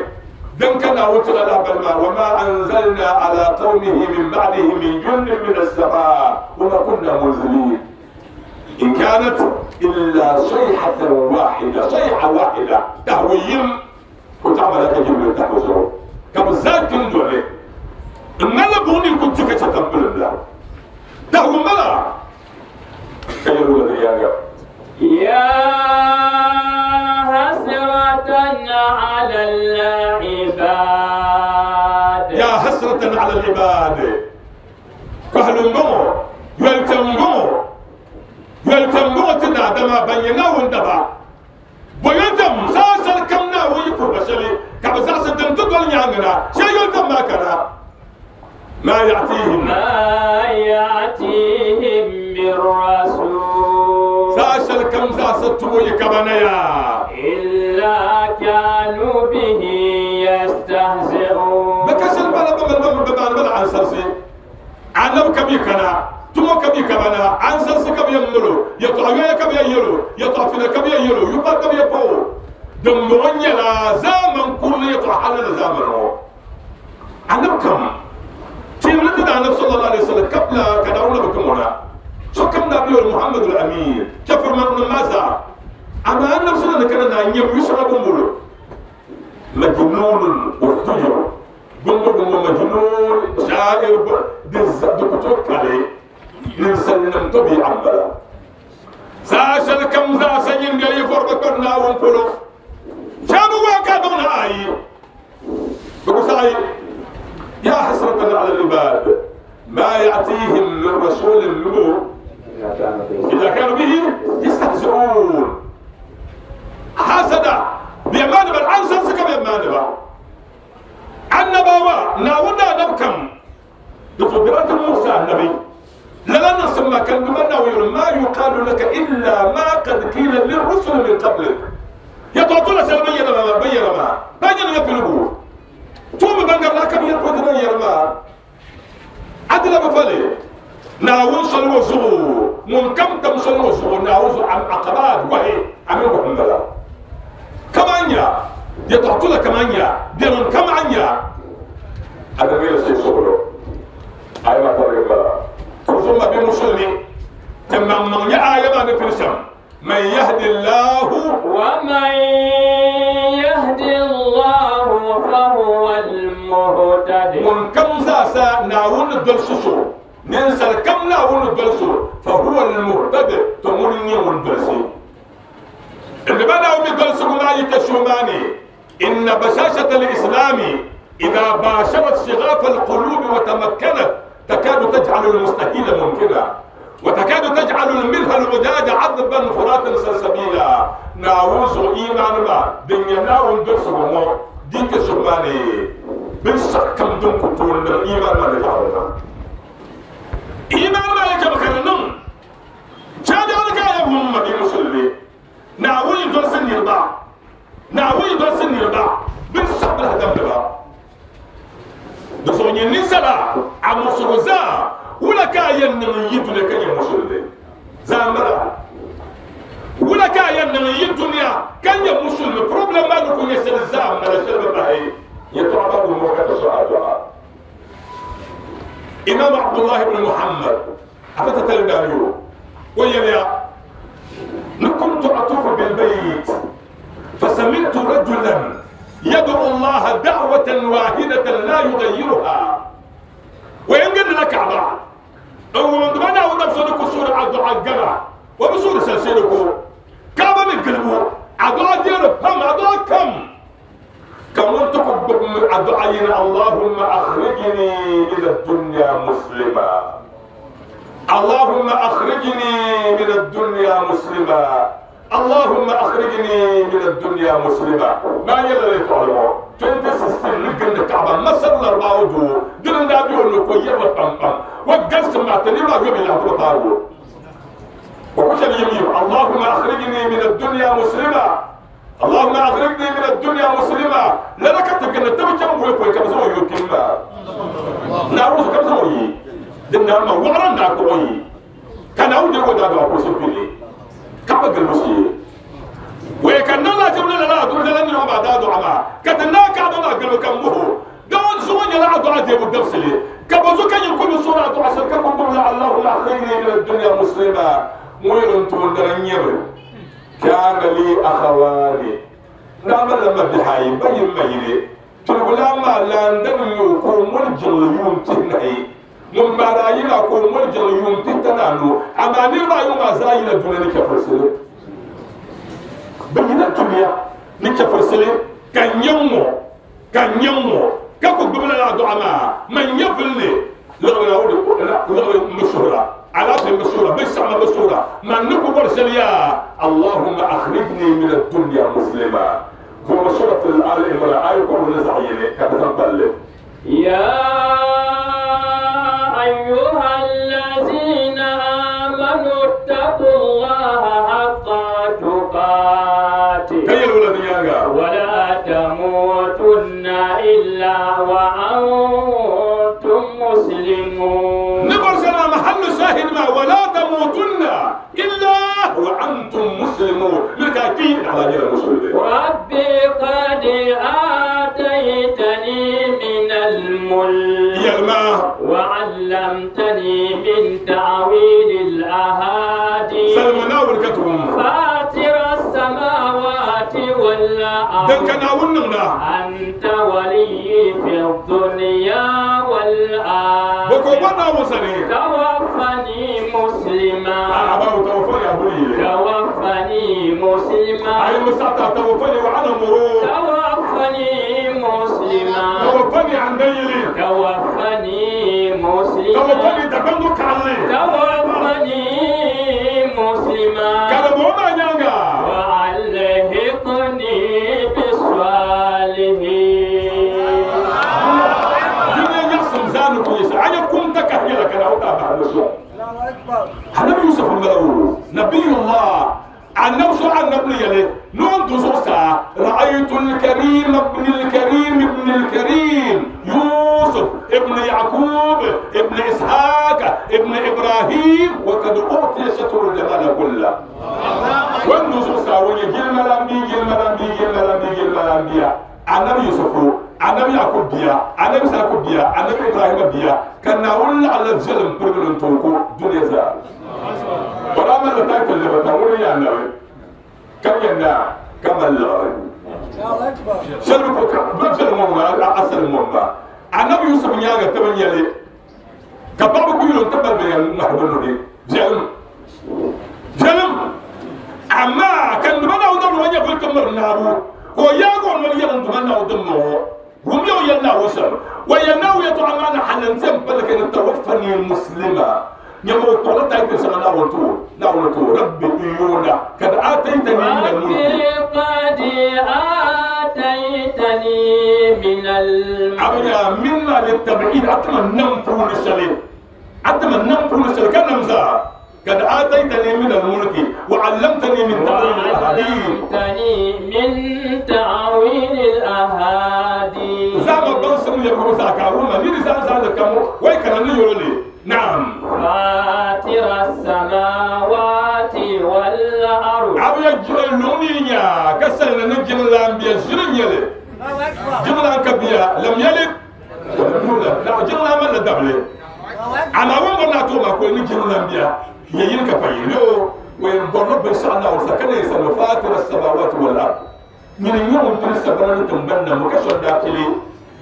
din ka Naawuni ti la lahibali maa, Wama anzalna ala qawmihi min ba'dihi min jundin min as-samaa wama kunna munzilin in kanat illa sayhatan wahida, sayha wahida, tahigu yim ka o taɣi malaika Jibril tahigu zuɣu ka bɛ zaa kpi n-doli n-ŋmanila buɣim ni ku di ka chɛ tampilim la. Tahigu m-bala. Ka yɛli o di yaaŋa. Ya hasratan ala al-ibad. Ya hasratan ala al-ibad. Kɔhili m-bɔŋɔ, yolitɛm m-bɔŋɔ, yolitɛm m-bɔŋɔ ti daadama ban nyɛ Naawuni daba. Bɔ yolitɛm saha shɛli kam Naawuni yi puhi ba shɛli ka bɛ zaɣisi din ti doli nyaaŋa na, shee yolitɛm maa kana. Ma ya'tihim. Ma ya'tihim min rasul. Saha shɛli kam zaɣisi tubo yi ka ba na yaa. Illa kanu bihi yastahzi'un. Bɛ ka shɛli pala ba mali ba mini bɛ baani ba la ansarisi. Anabi ka bɛ kana, tumo ka bɛ ka ba na, ansarisi ka bɛ yɛn mali o, yɛtɔɣa yoya ka bɛ yɛn yɛl o, yɛtɔɣa fina ka bɛ yɛn yɛl o, yupa ka bɛ yɛn paɣ o. Dimbɔŋɔ nyɛla zaamani kurili yɛtɔɣa hali ni zaamani ŋɔ. Anabi kam teemli ti Daanabi sallallahu alaihi wasallam kabila ka Naawuni na bi tim o na. Sokam daa bi yɛli Muhammadu al-Amin, chɛfurimaŋnim maa zaa. Amaa Anabi sala ni kana na n-nyɛ yu shɛŋa bɔmbolo majnunun wa tujur bɔmbo bɔmbɔ majnun sha'ir di ku tooi kali ninsalinim tɔbii'a m-bala. Saha shɛli kam zaasa nyin bɛ yi vɔri bi kpari Naawuni polo, shɛba bi waai ka a baŋ ni ayi. Bɛ ku saɣi, Ya hasratan ala al-ibad ma ya'tihim min rasulin minhu illa kanu bihi yastahzi'un. Hasada bɛ maani ba ansarisi ka bɛ maani ba. Annabawa Naawuni daadam kam di ku dira ti muɣisi annabi lala niŋsim maa ka Duuma Naawuni yɛli ma yuqalu laka illa ma qad qila lirrusuli min qablik. Yɛtɔɣa tola shɛli bɛ yɛra maa, bɛ yɛra maa, bɛ nyɛla ya piligu. Tuumi ban garila ka bɛ yɛri pɔti ban yɛri maa, a ti labi fali Naawuni soli ŋɔ zuɣu, ŋun kam tam soli ŋɔ zuɣu Naawuni zuɣu aqabaat gɔhi a mini gɔhi m-bala. Kaman nya yɛtɔɣa tola kaman nya biɛrim kaman nya a ni ŋmɛri shee suɣulo a yi maa tarigi m-bala. Tuzuŋ ma bɛ musulimi ti maŋmaŋ nya aaya maa ni pili shɛm. Man yahdi Allahu. Wa man yahdi Allahu fa huwa al-muhtadi. Ŋun kam zaasa Naawuni ni dolsi so, ninsal kam Naawuni ni dolsi so, fa huwa al-muhtadi, to ŋuni n-nyɛ ŋun dolsi. N ba Naawuni mi dolsigu maa yi kpe so maa ni, inna bashashata al-islami idha basharat shighafa al-qulubi wa tamakkanat takadu taj'alu al-mustahila mumkina. وتكاد تجعل منها الوداد عذبا فراتا سلسبيلا ناوز إيمان ما دنيا ناون درسه ديك سبحانه بنسكم دون كتون إيمان ما نجعلنا إيمان ما يكبكرنم شادي أنا يا محمد المسلمي ناوي درس النربع ناوي درس النربع بنسبل هدم دبا دسوني نسلا عمسوزا ولا كاين يدنا كاين مسلمي زامبلا ولا كاين يدنا كاين مسلم بروبليم ما نكون يسال زام ما شرب باهي يتعبد الموكة سؤال إمام عبد الله بن محمد أفتت الداريو ويا كنت أطوف بالبيت فسمعت رجلا يدعو الله دعوة واحدة لا يغيرها وينقل لك عبا أو من دمنا ونفسك سورة عبد الجمع وبسورة سلسلك كعبة من قلبه عبد دير هم عبد كم كم تقبل عبد اللهم أخرجني إلى الدنيا مسلما اللهم أخرجني من الدنيا مسلما اللهم أخرجني من الدنيا مسلما ما يلا يتعلموا 2016 نقل الكعبة مصر الأربعة وجوه دلنا نبي أنه كوير وطمطم وقلت مع تنيما قبل يعطوا طارو وكشف يمين اللهم أخرجني من الدنيا مسلما اللهم أخرجني من الدنيا مسلما لا لك تبقى تبي كم ويكوي كم زوي يكمل نعوذ كم زوي دمنا ما وعرنا كوي كان أودي ودا دوا كوسيبلي كما قلبسي وكان لا جبنا لا دون لا نروح بعد دعاء ما كتنا كعبنا قلب كم هو دون زوج لا دعاء دي بدرسلي كبزو كان يكون سورة دعاء سكر كم اللهم أخرجني من الدنيا مسلما وين تقول كان لي أخواني نعم لما بحاي بين ميلي تقول ما لا ندم يكون مرجل يوم تنهي من باراينا كون مرجل يوم تنانو أما نرى يوم أزاينا دون نكفرسلي بين الدنيا نكفرسلي كان يومو كان يومو كاكو قبل دعاء ما من يبلني لغوي مشهورة على المشهورة بس على المشهورة من نكو برسليا اللهم أخرجني من الدنيا مسلما هو سورة الآل عمران آية كل نزعيني كتتبلل يا أيها الذين آمنوا اتقوا الله حق تقاته ولا تموتن إلا وأنتم مسلمون. نبرسنا محل شاهد ما ولا تموتن إلا وأنتم مسلمون لتأكيد على غير المسلمين. ربي قد آتيتني من الملك وعلمتني من تأويل الأحاديث فاطر السماوات والأرض أنت ولي في الدنيا والآخرة توفني مسلما توفني مسلما توفني مسلما توفني عن ديلي توفني مسلما توفني تبندك علي توفني مسلما كرموما نيانغا وألحقني بالصالحين. دنيا يحسن زانك يسعى أنا كنت كهيلك أنا أتابع النبي يوسف الملعون نبي الله عن نفسه عن نبي يلي نون تزوسا رأيت الكريم ابن الكريم ابن الكريم يوسف ابن يعقوب ابن إسحاق ابن إبراهيم وقد أعطي شطر الجمال كله. وين تزوسا ويجي الملامبي الملامبي الملامبي الملامبي النبي يوسف النبي يعقوب بيا النبي إسحاق بيا النبي إبراهيم بيا كان نقول على الظلم برجل تركو دنيا زال. برامج اللي اللي بتقول يا النبي كم ينا كم الله شربك بنفس المرة أصل المرة النبي يوسف نياجا تبني يلي كبابك يقولون تبر بين نحبلو دي جلم جلم أما كان بنا ودم ويا في الكمر نابو وياغون ويا بنا ودم هم يو ينا وسر وينا ويتعمل حلنتم بلك إن توفني المسلمة Nyɛmo kɔrɔ ta ite sanga na wonto rabbi yuna kad ataitani min al-mulk قد آتيتني من الملك abnya minna litab'id atma nam puni shali atma nam puni shali kan namza kad ataitani min al-mulk wa 'allamtani min ta'wil al-ahadith وعلمتني من تعويل الأحاديث zama ban sun le ko sa ka wuma ni za za da kamo wai kana ni yole na'am فاطر السماوات والأرض abuya jira loni nya kasal na jimla biya jirin yele jimla ka biya lam yalid wa lam yulad la jimla man la dable ama won na to ma ko ni jimla biya yayin ka fayi no wa borno bin sa Allah sa kana sa fatir as-samawati wal ard min yawm tun sabana tun banna muka shonda kile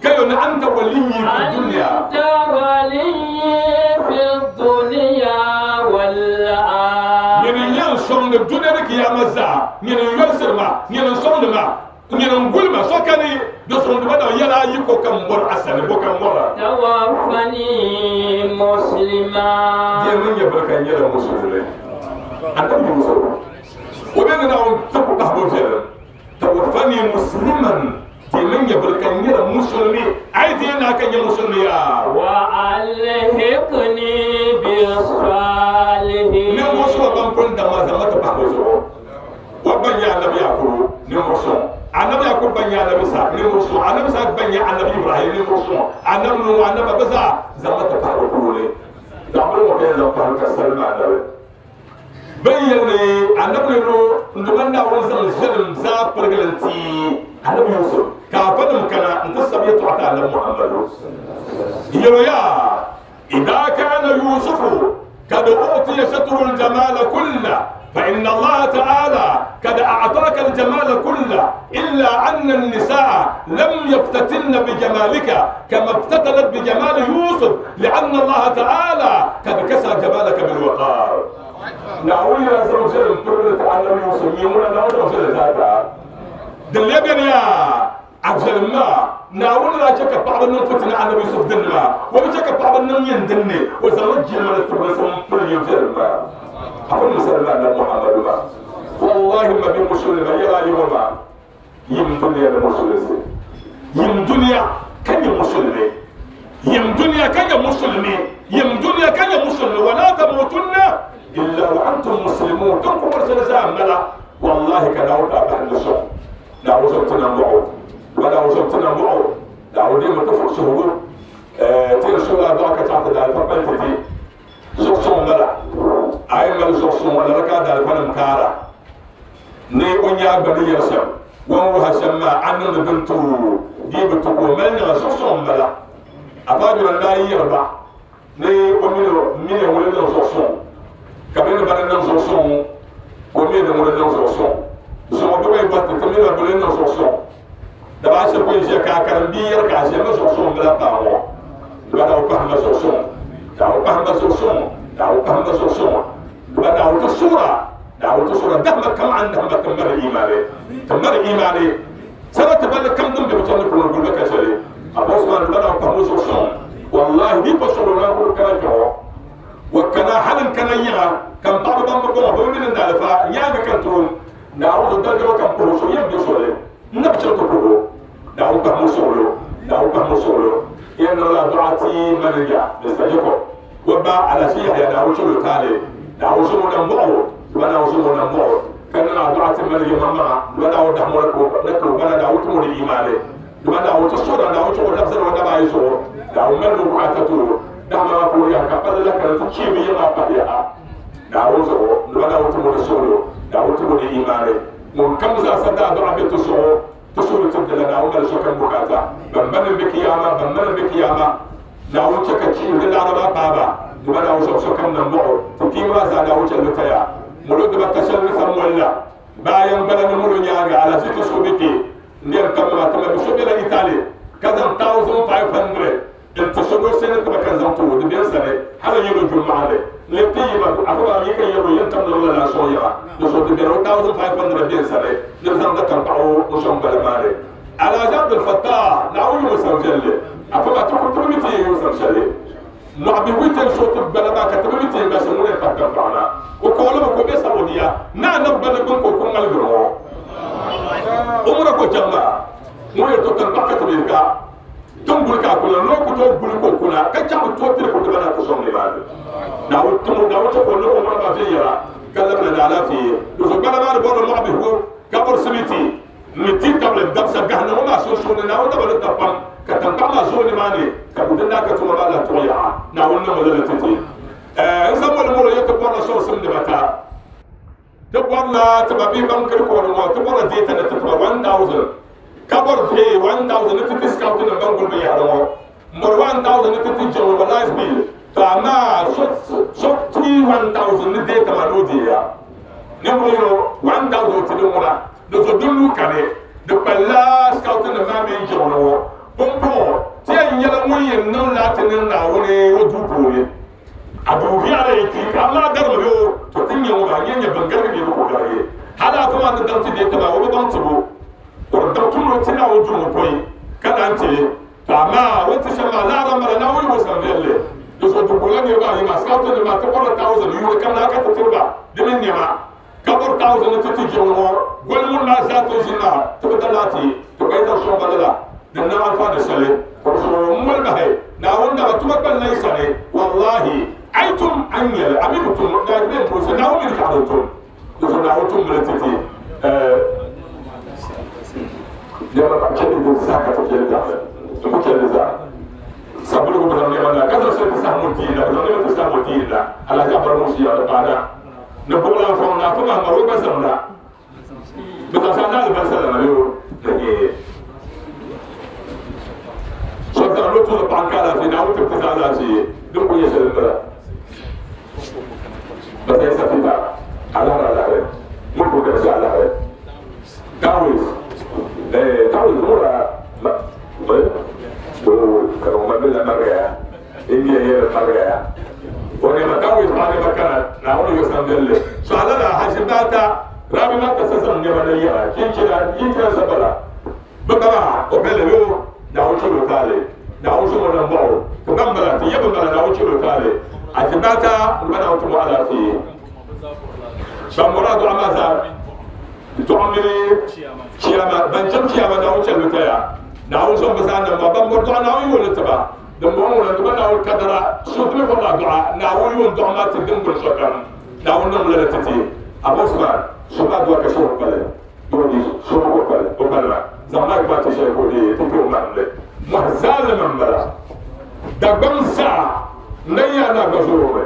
kayo na anta waliyyi fi dunya أنت ولي في الدنيا والآخرة ñene ñan soŋde duniya ni kiyama zaa ñene yorsir ma ñene soŋde ma ñene ngul ma sokani do soŋde ba da yala yi ko kam bor asani bo kam bora توفني مسلما je mun ye barka ñela musulule anda mi musul o be na on tabu ba bo jere tawaffani musliman je mun ye barka ñela musulmi ay te na kan ye musulmi ya وألحقني بالصالحين ne mo so ban pon da ma zama ta ba bo zo wa ban ya annabi yakuru ne mo so annabi yakub ban ya annabi sa ne mo so annabi sa ban ya annabi ibrahim ne mo so annabi nu annabi baza zama ta ba ko ne da mu mo kai zan fara salma da bayyana annabi no nduban da won zan zulm za fargalanti annabi yusuf ka fadum kana inta sabiyatu ata annabi muhammadu يا إذا كان يوسف قد أعطي شطر الجمال كله فإن الله تعالى قد أعطاك الجمال كله إلا أن النساء لم يفتتن بجمالك كما افتتنت بجمال يوسف لأن الله تعالى قد كسى جمالك بالوقار. نعوي يا زوجين تعلم يوسف يمونا نعوي زوجين دلبن يا أفضل ما ناول لا شك بعض النوم فتنا على يوسف دنا ولا شك بعض النوم يندني وزوج من التبسم كل يوم ما أقول مسلم على محمد ما والله ما بمشكلة ما يلا يوم ما يم دنيا المشكلة يم دنيا كان المشكلة يم دنيا كان المسلمين يم دنيا كان المسلمين ولا تموتن إلا وأنتم مسلمون تنكم رسول الله والله كان أوقع بعد الشر لا وزرتنا معه ولا وزرتنا معه لا ودي ما تفرق شهور تير شو لا ذاك تعطي دار فبلتي زوجهم بلا أي من زوجهم ولا ركع دار فنم كارا ني ونيا بني يرسم وهو هشام عنه بنتو دي بتقول ملنا زوجهم بلا أفادوا لا يربع ني ومن من ولد زوجهم كمان بنا زوجهم ومن ولد زوجهم زوجهم بيبات كمان بنا زوجهم دابا شكون جا كاكرمبير كاجا ما زوجهم بلا باو بلا وكهم زوجهم داو كهم زوجهم داو كهم زوجهم بلا وتصورة داو تصورة دهما كم عندهم تمر إيماني تمر إيماني سنة تبلغ كم دم بيجون كل كل كشري أبوس ما بلا وكهم زوجهم والله دي بصورة لا كل كلام جوا وكنا حالا كنا يا كم بعض بام بقول بقول من دالفا يا كنترول داو الدرجة كم بروسو يم بيسولي نبشر تبروه داو كم مسولو داو كم مسولو إن الله دعاتي من يا نستجيبه وبا على شيء يا داو شو تالي داو شو نمو ولا شو نمو كان الله دعاتي من يا ماما ولا دحمر نكو ولا داو تمر إيمانه ولا داو تصور داو شو نفسه ولا بايسو داو من ركعته داو ما بقول يا كابل لك تشيب يا ما بيا داو شو ولا تمر سولو داو تمر إيمانه من كم زاد دعاء بتصور تصور تبدل أنا أول شو كان بكاتا بمن بكياما بمن بكياما ناو تكتشي للعربة بابا دبنا وشو شو كان نمو تكيما زاد أو شلتيا مولود بتشل سمولا باين بلد مولو نياغا على ست سوبيتي نير كم ما تم بسوبي لإيطاليا كذا 1500 التصور سنة تبقى زمتو دبيان سنة هذا يلو جمعة لتي ما أقول أني كي يلو ينتم لولا لا سويا نصور دبيان 1500 بيان سنة نرزم ده كم باو نشوم بالمالي على جنب الفتاة نعوي مسجل أقول أتوقع ترومتي مسجل Mɔɣu bihi ti so ti gbala maa ka ti bi ti gba sɛ ŋun pa tankpaɣu na o kɔɔli mi ko bɛ Saudiya naa na gbali gbuni ko ku ŋmaligiri ŋɔ umra ko chaŋ maa ŋun yɛli to tankpaɣu ka ti bɛ ka tin guli ka a kuna n'o ku tooi guli ka o kuna ka chaŋ bi tooi tiri ku ti bana ti sɔŋ nimaani Naawuni tumo Naawuni chɛ ka o niŋ umra maa viɛnyɛla ka labina ni alaafee di zuɣu gbala maa ni bɔrila mɔɣu bihigu ka bɔri simiti ni ti tabili dabisa gahindi ŋɔ maa sunsuuni Naawuni daba ni ta pam ka tankpaɣu maa zooi nimaani ka bɛ din daa ka tuma maa lahi tuɣi yaɣa Naawuni niŋmi lala ti ti n zaŋ moli molo yɛ ti bɔrila sɔŋsim dibata ti bɔrila ti ba bihi ban kiri kooni ŋɔ ti bɔrila data ni ti tiba 1000 ka bɔri pay 1000 ni ti ti scout nim ban guli binyahari ŋɔ n bɔri 1000 ni ti ti generalize bill to amaa so ti 1000 ni data maa ni o deeya ninvuɣu yino 1000 ti di ŋuna di zo din lu kani di kpalila scout nim maa mini jiŋli ŋɔ pumpɔŋɔ ti yɛn nyɛla ŋun yɛn niŋ laati niŋ Naawuni o duu puuni a duu viɛla yi kpi ka Allah garimi bɛ o to ti nyɛ ŋɔ maa nyɛ nyɛ ban garigi bɛ bi ku garigi hali a maa ni daŋ ti dee taba o bi baŋ tibu o di daŋ tumdi o ti Naawuni duu ŋɔ pɔi ka naan ti to amaa o ti shɛm maa laara m-bala Naawuni o san viɛlli di zuɣu di gula niriba ayi maa scout nim maa ti bɔrila 1000 yuuni kam naa ka ti tiri ba di mini nɛma ka bɔri 1000 ni ti ti jiŋli ŋɔ goli ŋuni maa zaa ti ʒini maa ti bi da laati ti gba yi zaŋ sɔŋ ba lala din niŋ anfaani shɛli ka bi zuɣu m moli bahi Naawuni dama tuma kpani la yi sani wallahi a yi tum a ni nyɛli a mi bi tum na bɛ n puusi Naawuni mi ni chaɣ din tum di zuɣu Naawuni tum mili ti ti nɛma ka chɛ di zaa ka ti chɛ li daɣili n ku chɛ li zaa sabuligu bi zaŋ nɛma na ka zaŋ shɛli ti saha ŋun ti yina bi zaŋ nɛma ti saha ŋun ti yina alahaji abara ŋun ʒiya di paana ni buɣulan fɔŋ na fo maa mari o gba zaŋ na bi zaŋ sa na alibarisa la na yo shɛba zaŋ lo tuuli paɣa n ka alaafee Naawuni ti ti zaŋ alaafee din ku nyɛ shɛli n bala ba zai sa fita alahari alahari ŋun ku garisi alahari tawis tawis ŋura ma o ka ma bila marigaya indiya yɛrɛ marigaya o nɛma tawis paɣa nɛma kana Naawuni yo san viɛlli so ala la haji baata rabi ma ka sa zaŋ nɛma na yɛra chinchina chinchina sabala bɛ baba o bɛlɛ yo Naawuni chɛro taali Naawuni sɔŋɔ na mɔɣu ka ban bala ti yɛ bin bala Naawuni chɛro taali haji baata n ba Naawuni tumo alaafee ban bɔra dɔɣu maa zaa dɔɣu mini chiyama ban chaŋ chiyama Naawuni chɛli taya Naawuni sɔŋ bi zaa nam maa ban bɔri dɔɣu Naawuni yooli tiba din bɔŋɔ ŋuna di ba Naawuni kadara so ti mi bɔrila dɔɣa Naawuni yoon dɔɣu maa ti din guli sokam Naawuni niŋ lala ti ti Abu Usman so maa dɔɣu ka shɛli kpali dɔɣu so ko kpali o kpali maa zaŋ maa gba ti shɛli ko di ti kpɛ o mahimli mɔhi zaalima n bala Dagbaŋ zaa n na yaa na gba zoori mi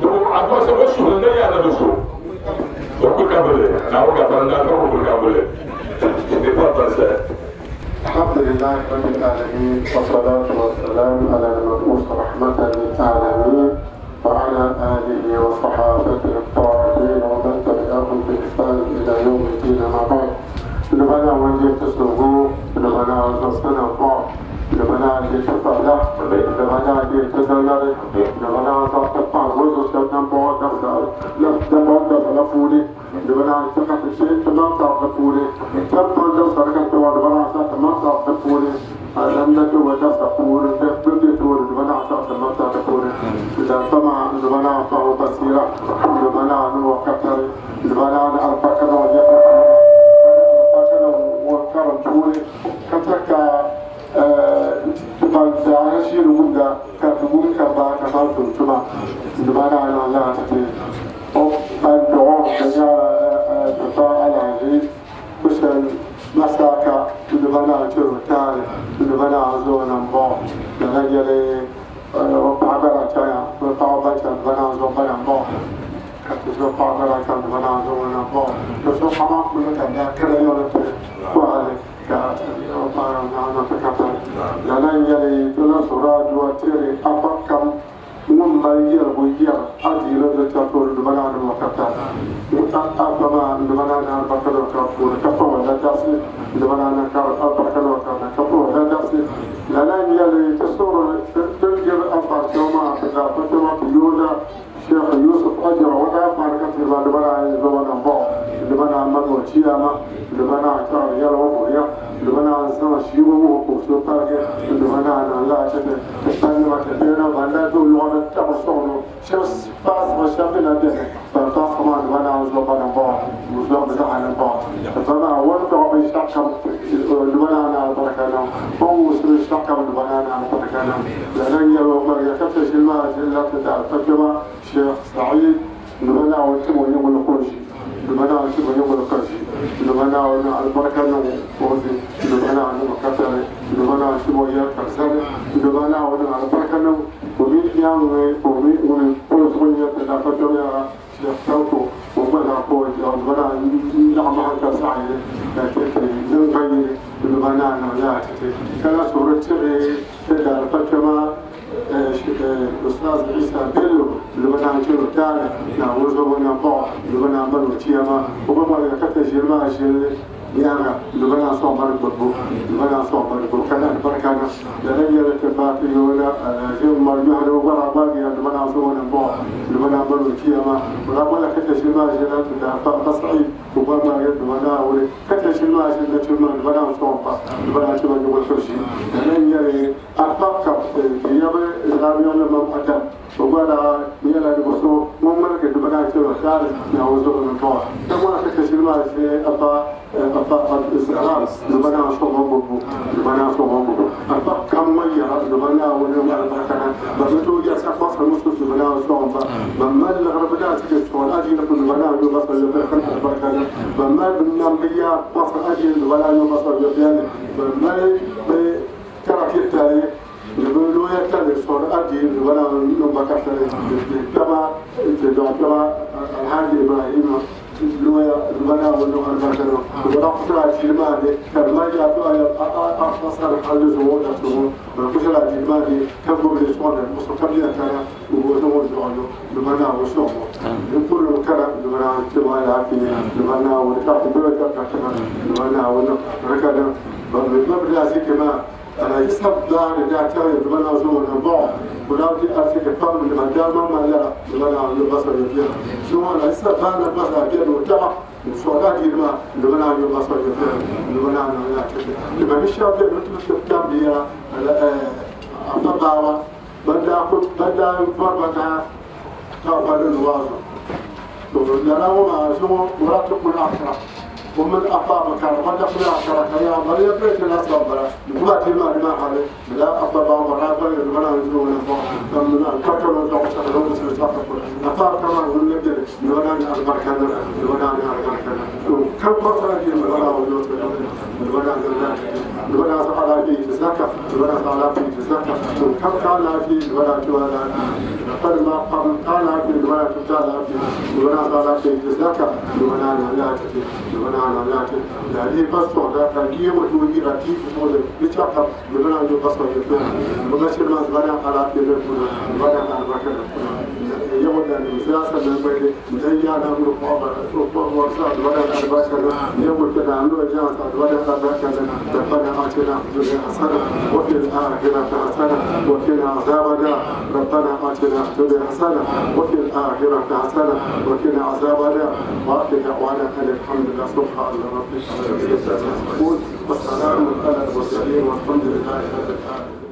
di bo a dɔɣu shɛba o suhuri n na yaa na do so o kuli ka bili Naawuni gafara n daa ka o kuli ka bili di pa pa sɛ. الحمد لله رب العالمين والصلاة والسلام على المبعوث رحمة للعالمين وعلى آله وصحابته الطاهرين ومن تبعهم بإحسان إلى يوم الدين ما بعد. لبنا وجه تسلغو لبنا زصنا فوق لبنا لتطلع لبنا لتدلل لبنا زطفا وزو سنن بعد لبنا لفولي لبنا تقف الشيء تمام تعرفولي تم لو سرقت ولبنا تمام تعرفولي لم تولى تقول تبدي تقول لبنا تمام تعرفولي إذا سمع لبنا فهو بصيرة لبنا وكتر لبنا البكر ويقرأ وكرم تقولي كتك تبان شيء وجودا كتقول كبا كبا تما لبنا على الله تتي أو الدعاء تفاعل عليه وسل مساكا لبنا تروتال لبنا زونا با لغيري وبعبر تايا وبعبر لبنا زونا با كتزو بعبر لبنا زونا با تزو حما كل كذا كذا يوم وعلى lala n-yɛli tula sora duwa tiri afa kam ŋun mali yɛligu yɛri adiila di tato dubana ni wakata afa maa dubana ni albarka dɔ ka puuni ka pa wala dasi dubana ni ka albarka dɔ ka na ka pa wala dasi lala n-yɛli ti soro din jiri afa shɛŋa maa ti zaɣ fitima ti yooda Sheikh Yusuf Ajra wada farka ti ba dubana ni dubana bɔ dubana man o chiyama dubana ta yɛlɛ o ya dubana sama shi wo ko so parke dubana na la ta ta tan ma تبينا وانا دو لغة تقصونه شمس باس غشام لا بينا فاس ما وانا عزوبنا بعض وزوب زعل بعض فما ورد بيشتكم البنانا على بركانا هو يشتكم البنانا على بركانا لأن يوم يكتش الماء لا تدع شيخ سعيد البنا وتم يوم القرشي البنا وتم يوم القرشي البنا على بركانا وفي البنا على مكتر البنا وتم يا كرسان البنا على بركانا ومن يوم ومن ومن يا يا شيخ توتو وبلا قوة وبلا نعمة كسعي لكن البنا لا كلا صورة تدار فتما الأستاذ عيسى بيلو اللي بنا نشيلو تاعنا نعوزه ونبع اللي بنا عملو تيما وبما يكتش ما شيل يانا اللي بنا صوم البربو اللي بنا صوم البربو كان البركة لأن يلتفات يولا يوم مرجوه لو برا باقي اللي بنا صوم ونبع اللي بنا عملو تيما ولا كتش ما شيل تصعيد وبما يد بنا ولي كتش ما شيل تشمل اللي بنا صوم اللي بنا شمل يقول كل شيء لأن يلي أفكر يبي الرابيون لما أتى وبلا يلا نبصو مملكة بنا شو ثالث نعوزه من طوع ثم كتش ما شيء أبا أبا الإسلام لبنا صوم بوبو لبنا صوم بوبو أبا كم يرى لبنا ونما البركة بمتو يسقط المسلم لبنا صوم بما الغرب لا تكسر أجي لكم لبنا يبصر البركة بما بالنبيا بصر أجي لبنا يبصر يبيان بما ترى التاريخ يقولوا يكتب صور أجي ولا نبكر كما كما الحاج إبراهيم لويا ولا ولا البشر ولا قصر الجمال كما يأتوا أفصل الحل زوج أسمه وقصر الجمال كم بيصور المستقبل كان وهو زوج لمنا وصوم يقول كلا لمنا تبغى العافية لمنا وتعطي لمنا ونركض بالمبلغ كما أنا يسحب دار دا تاوي بنا زون البعض ولا دي أرسك فهم لما دار ما لا لما على البصر يفيا شو أنا يسحب هذا البصر يفيا وتع وصلاة ما لما على البصر يفيا لما على لا لما مش شاف مثل كتاب بيا أفضل بدأ بدأ فربنا تافل الوازن لا هو شو مراتب الآخرة ومن أقام كان قد أقول عشرة يا مريم بيت الناس ربنا نقول ما ما عليه لا أطبع مرة ولا ولا نزول ولا من الكتر ولا عشرة ولا سبعة أطار كمان ولا نقدر ولا أربع كذا ولا أربع كذا كم مرة دي ولا ولا ولا ولا على في زكاة ولا على في زكاة كم كان في ولا ولا قد ما قام كان في ولا كان في ولا على في زكاة ولا لا ولا لا لا بس ولا كان يوم تودي راتي ولا بيتشاف ولا عنده بس ولا ولا شيء ما ولا على في ولا على يوم السياسة من بين زي أنا ولا يوم كنا عملوا جالس ولا ربنا آتنا في الدنيا حسنة وفي الآخرة حسنة وقنا عذاب النار ربنا آتنا في الدنيا حسنة وفي الآخرة حسنة وقنا عذاب النار وآخر دعوانا أن الحمد لله سبحان ربك رب العزة والسلام على المرسلين والحمد لله رب العالمين.